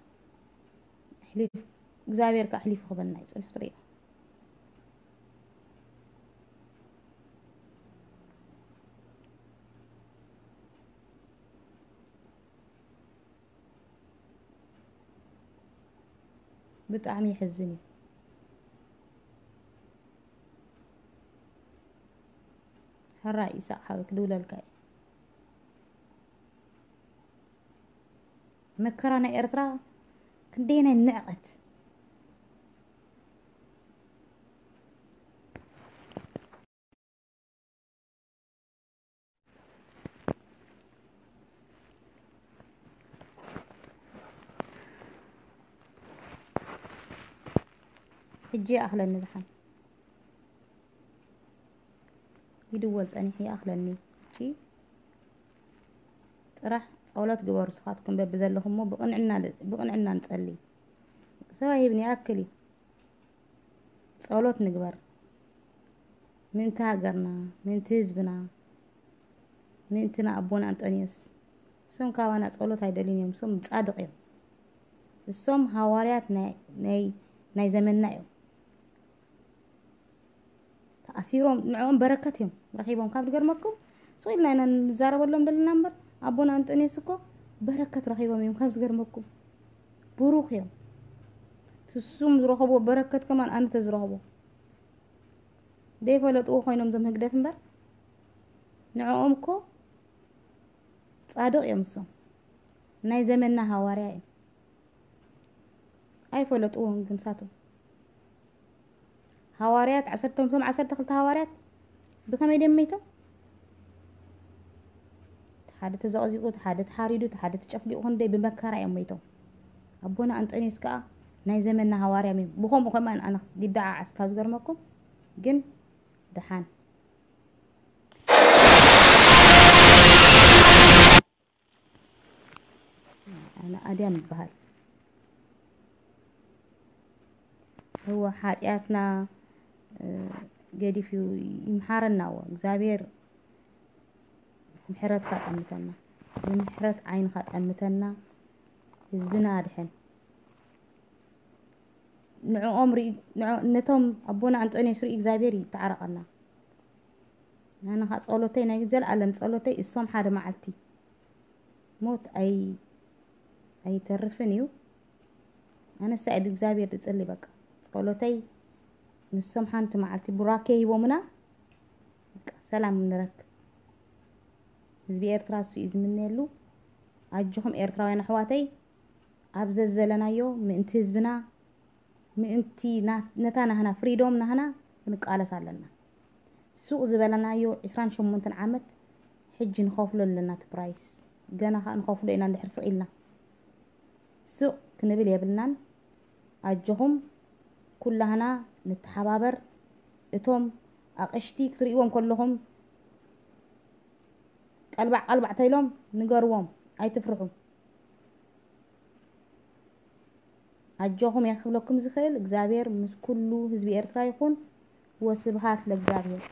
ኣሕሊፍ-፣ እግዚኣብሔር ከኣ ኣሕሊፉ ክበና እዩ። ጽንሑ ትርእዮ። ብጣዕሚ የሕዝን እዩ። ሕራይ ኢሳቕ ሓወይ ክድውለልካ እየ። መከራ ናይ ኤርትራ ክንደየናይ ንዕቐት። ሕጂ ይኣኽለኒ ድሓን። ይድወል ጸኒሑ ይኣኽለኒ። እሺ፣ ጥራሕ ጸሎት ግበሩ ንስኻትኩም በብዘለኹሞ ብቕንዕና ል-፣ ብቕንዕና ንጸሊ። ሰብኣይ ሂብኒ ይኣክል እዩ። ጸሎት ንግበር። ምእንቲ ሃገርና፣ ምእንቲ ህዝብና፣ ምእንቲ ንኣቦና ኣንጦንዮስ። እሶም ካባና ጸሎት ኣይደልዩን እዮም። እሶም ጻድቕ እዮም። እሶም ሃዋርያት ናይ፣ ናይ፣ ናይ ዘመንና እዮም። ተኣሲሮም ንዕኦም በረከት እዮም ረኺቦም። ካብ ዝገርመኩም፣ ስቕ ኢልና ኢና ንዛረበሎም ዘለና እምበር፣ ኣቦና ኣንጦንዮስ እኮ በረከት ረኺቦም እዮም። ካብ ዝገርመኩም፣ ብሩኽ እዮም። ትሱም ዝረኸብዎ በረከት ከማን ኣነ ተዝረኽቦ። ዘይፈለጥዎ ኮይኖም ዞም ህግደፍ እምበር፣ ንዕኦም እኮ ጻድቕ እዮም እሶም። ናይ ዘመንና ሃዋርያ እዮም። ኣይፈለጥዎም ግን ሳቶም። ሃዋርያት፣ ዓሰርተ፣ እቶም ዓሰርተ ክልተ ሃዋርያት ብኸመይ ድዮም መይቶም? እቲ ሓደ ተዘቕዚቑ፣ እቲ ሓደ ተሓሪዱ፣ እቲ ሓደ ተጨፍሊቑ፣ ክንደይ ብመከራ እዮም መይቶም። ኣቦና ኣንጦንዮስ ከኣ ናይ ዘመንና ሃዋርያ እዮም። ብኸምኡ ከማን ኣነ ይደዓዓስ ካብ ዝገርመኩም፣ ግን ደሓን። ኣነ ኣድያም ይበሃል። እወ፣ ሓጢኣትና፣ እ፣ ገዲፉ ይምሓረና። እወ፣ እግዚኣብሔር ምሕረትካ ጠምተና፣ ብምሕረት ዓይንኻ ጠምተና፣ ህዝብና ኣድሕን። ንዕኦም ርኢ-፣ ንዖ-፣ ነቶም ኣቦና ኣንጦንዮስ ርኢ እግዚኣብሔር ይተዓረቐና። ኣነ ኸኣ ጸሎተይ፣ ናይ ዘለኣለም ጸሎተይ፣ እሶም ሓደ መዓልቲ ሞት ኣይ-፣ ኣይተርፍን እዩ። ኣነሳ ኢድ እግዚኣብሔር ዝጽሊ በቃ። ጸሎተይ፣ ንሶም ሓንቲ መዓልቲ ቡራኬ ሂቦምና፣ በቃ ሰላም ንረክብ። ህዝቢ ኤርትራ እሱ እዩ ዝምነየሉ። ኣጆኹም ኤርትራውያን ኣሕዋተይ፣ ኣብ ዘዘለናዮ ምእንቲ ህዝብና፣ ምእንቲ ና-፣ ነታ ናህና ፍሪዶም ናህና ክንቃለስ ኣለና። ሱቕ ዝበለናዮ ዕስራን ሸሞንተን ዓመት ሕጂ ንኸፍሎ ኣለና እቲ ፕራይስ። ገና ኸኣ ንኸፍሎ ኢና እንድሕር ስቕ ኢልና። ሱቕ ክንብል የብልናን። ኣጆኹም ኩላህና ንተሓባበር። እቶም ኣቕሽቲ ክትርእይዎም ከለኹም ቀልባዕ ቀልባዕ ተይሎም ንገርዎም፣ ኣይትፍርሑ። ኣጆኹም እየ ክብለኩም ዝኽእል። እግዚኣብሔር ምስ ኩሉ ህዝቢ ኤርትራ ይኹን። ወስብሃት ለእግዚኣብሔር።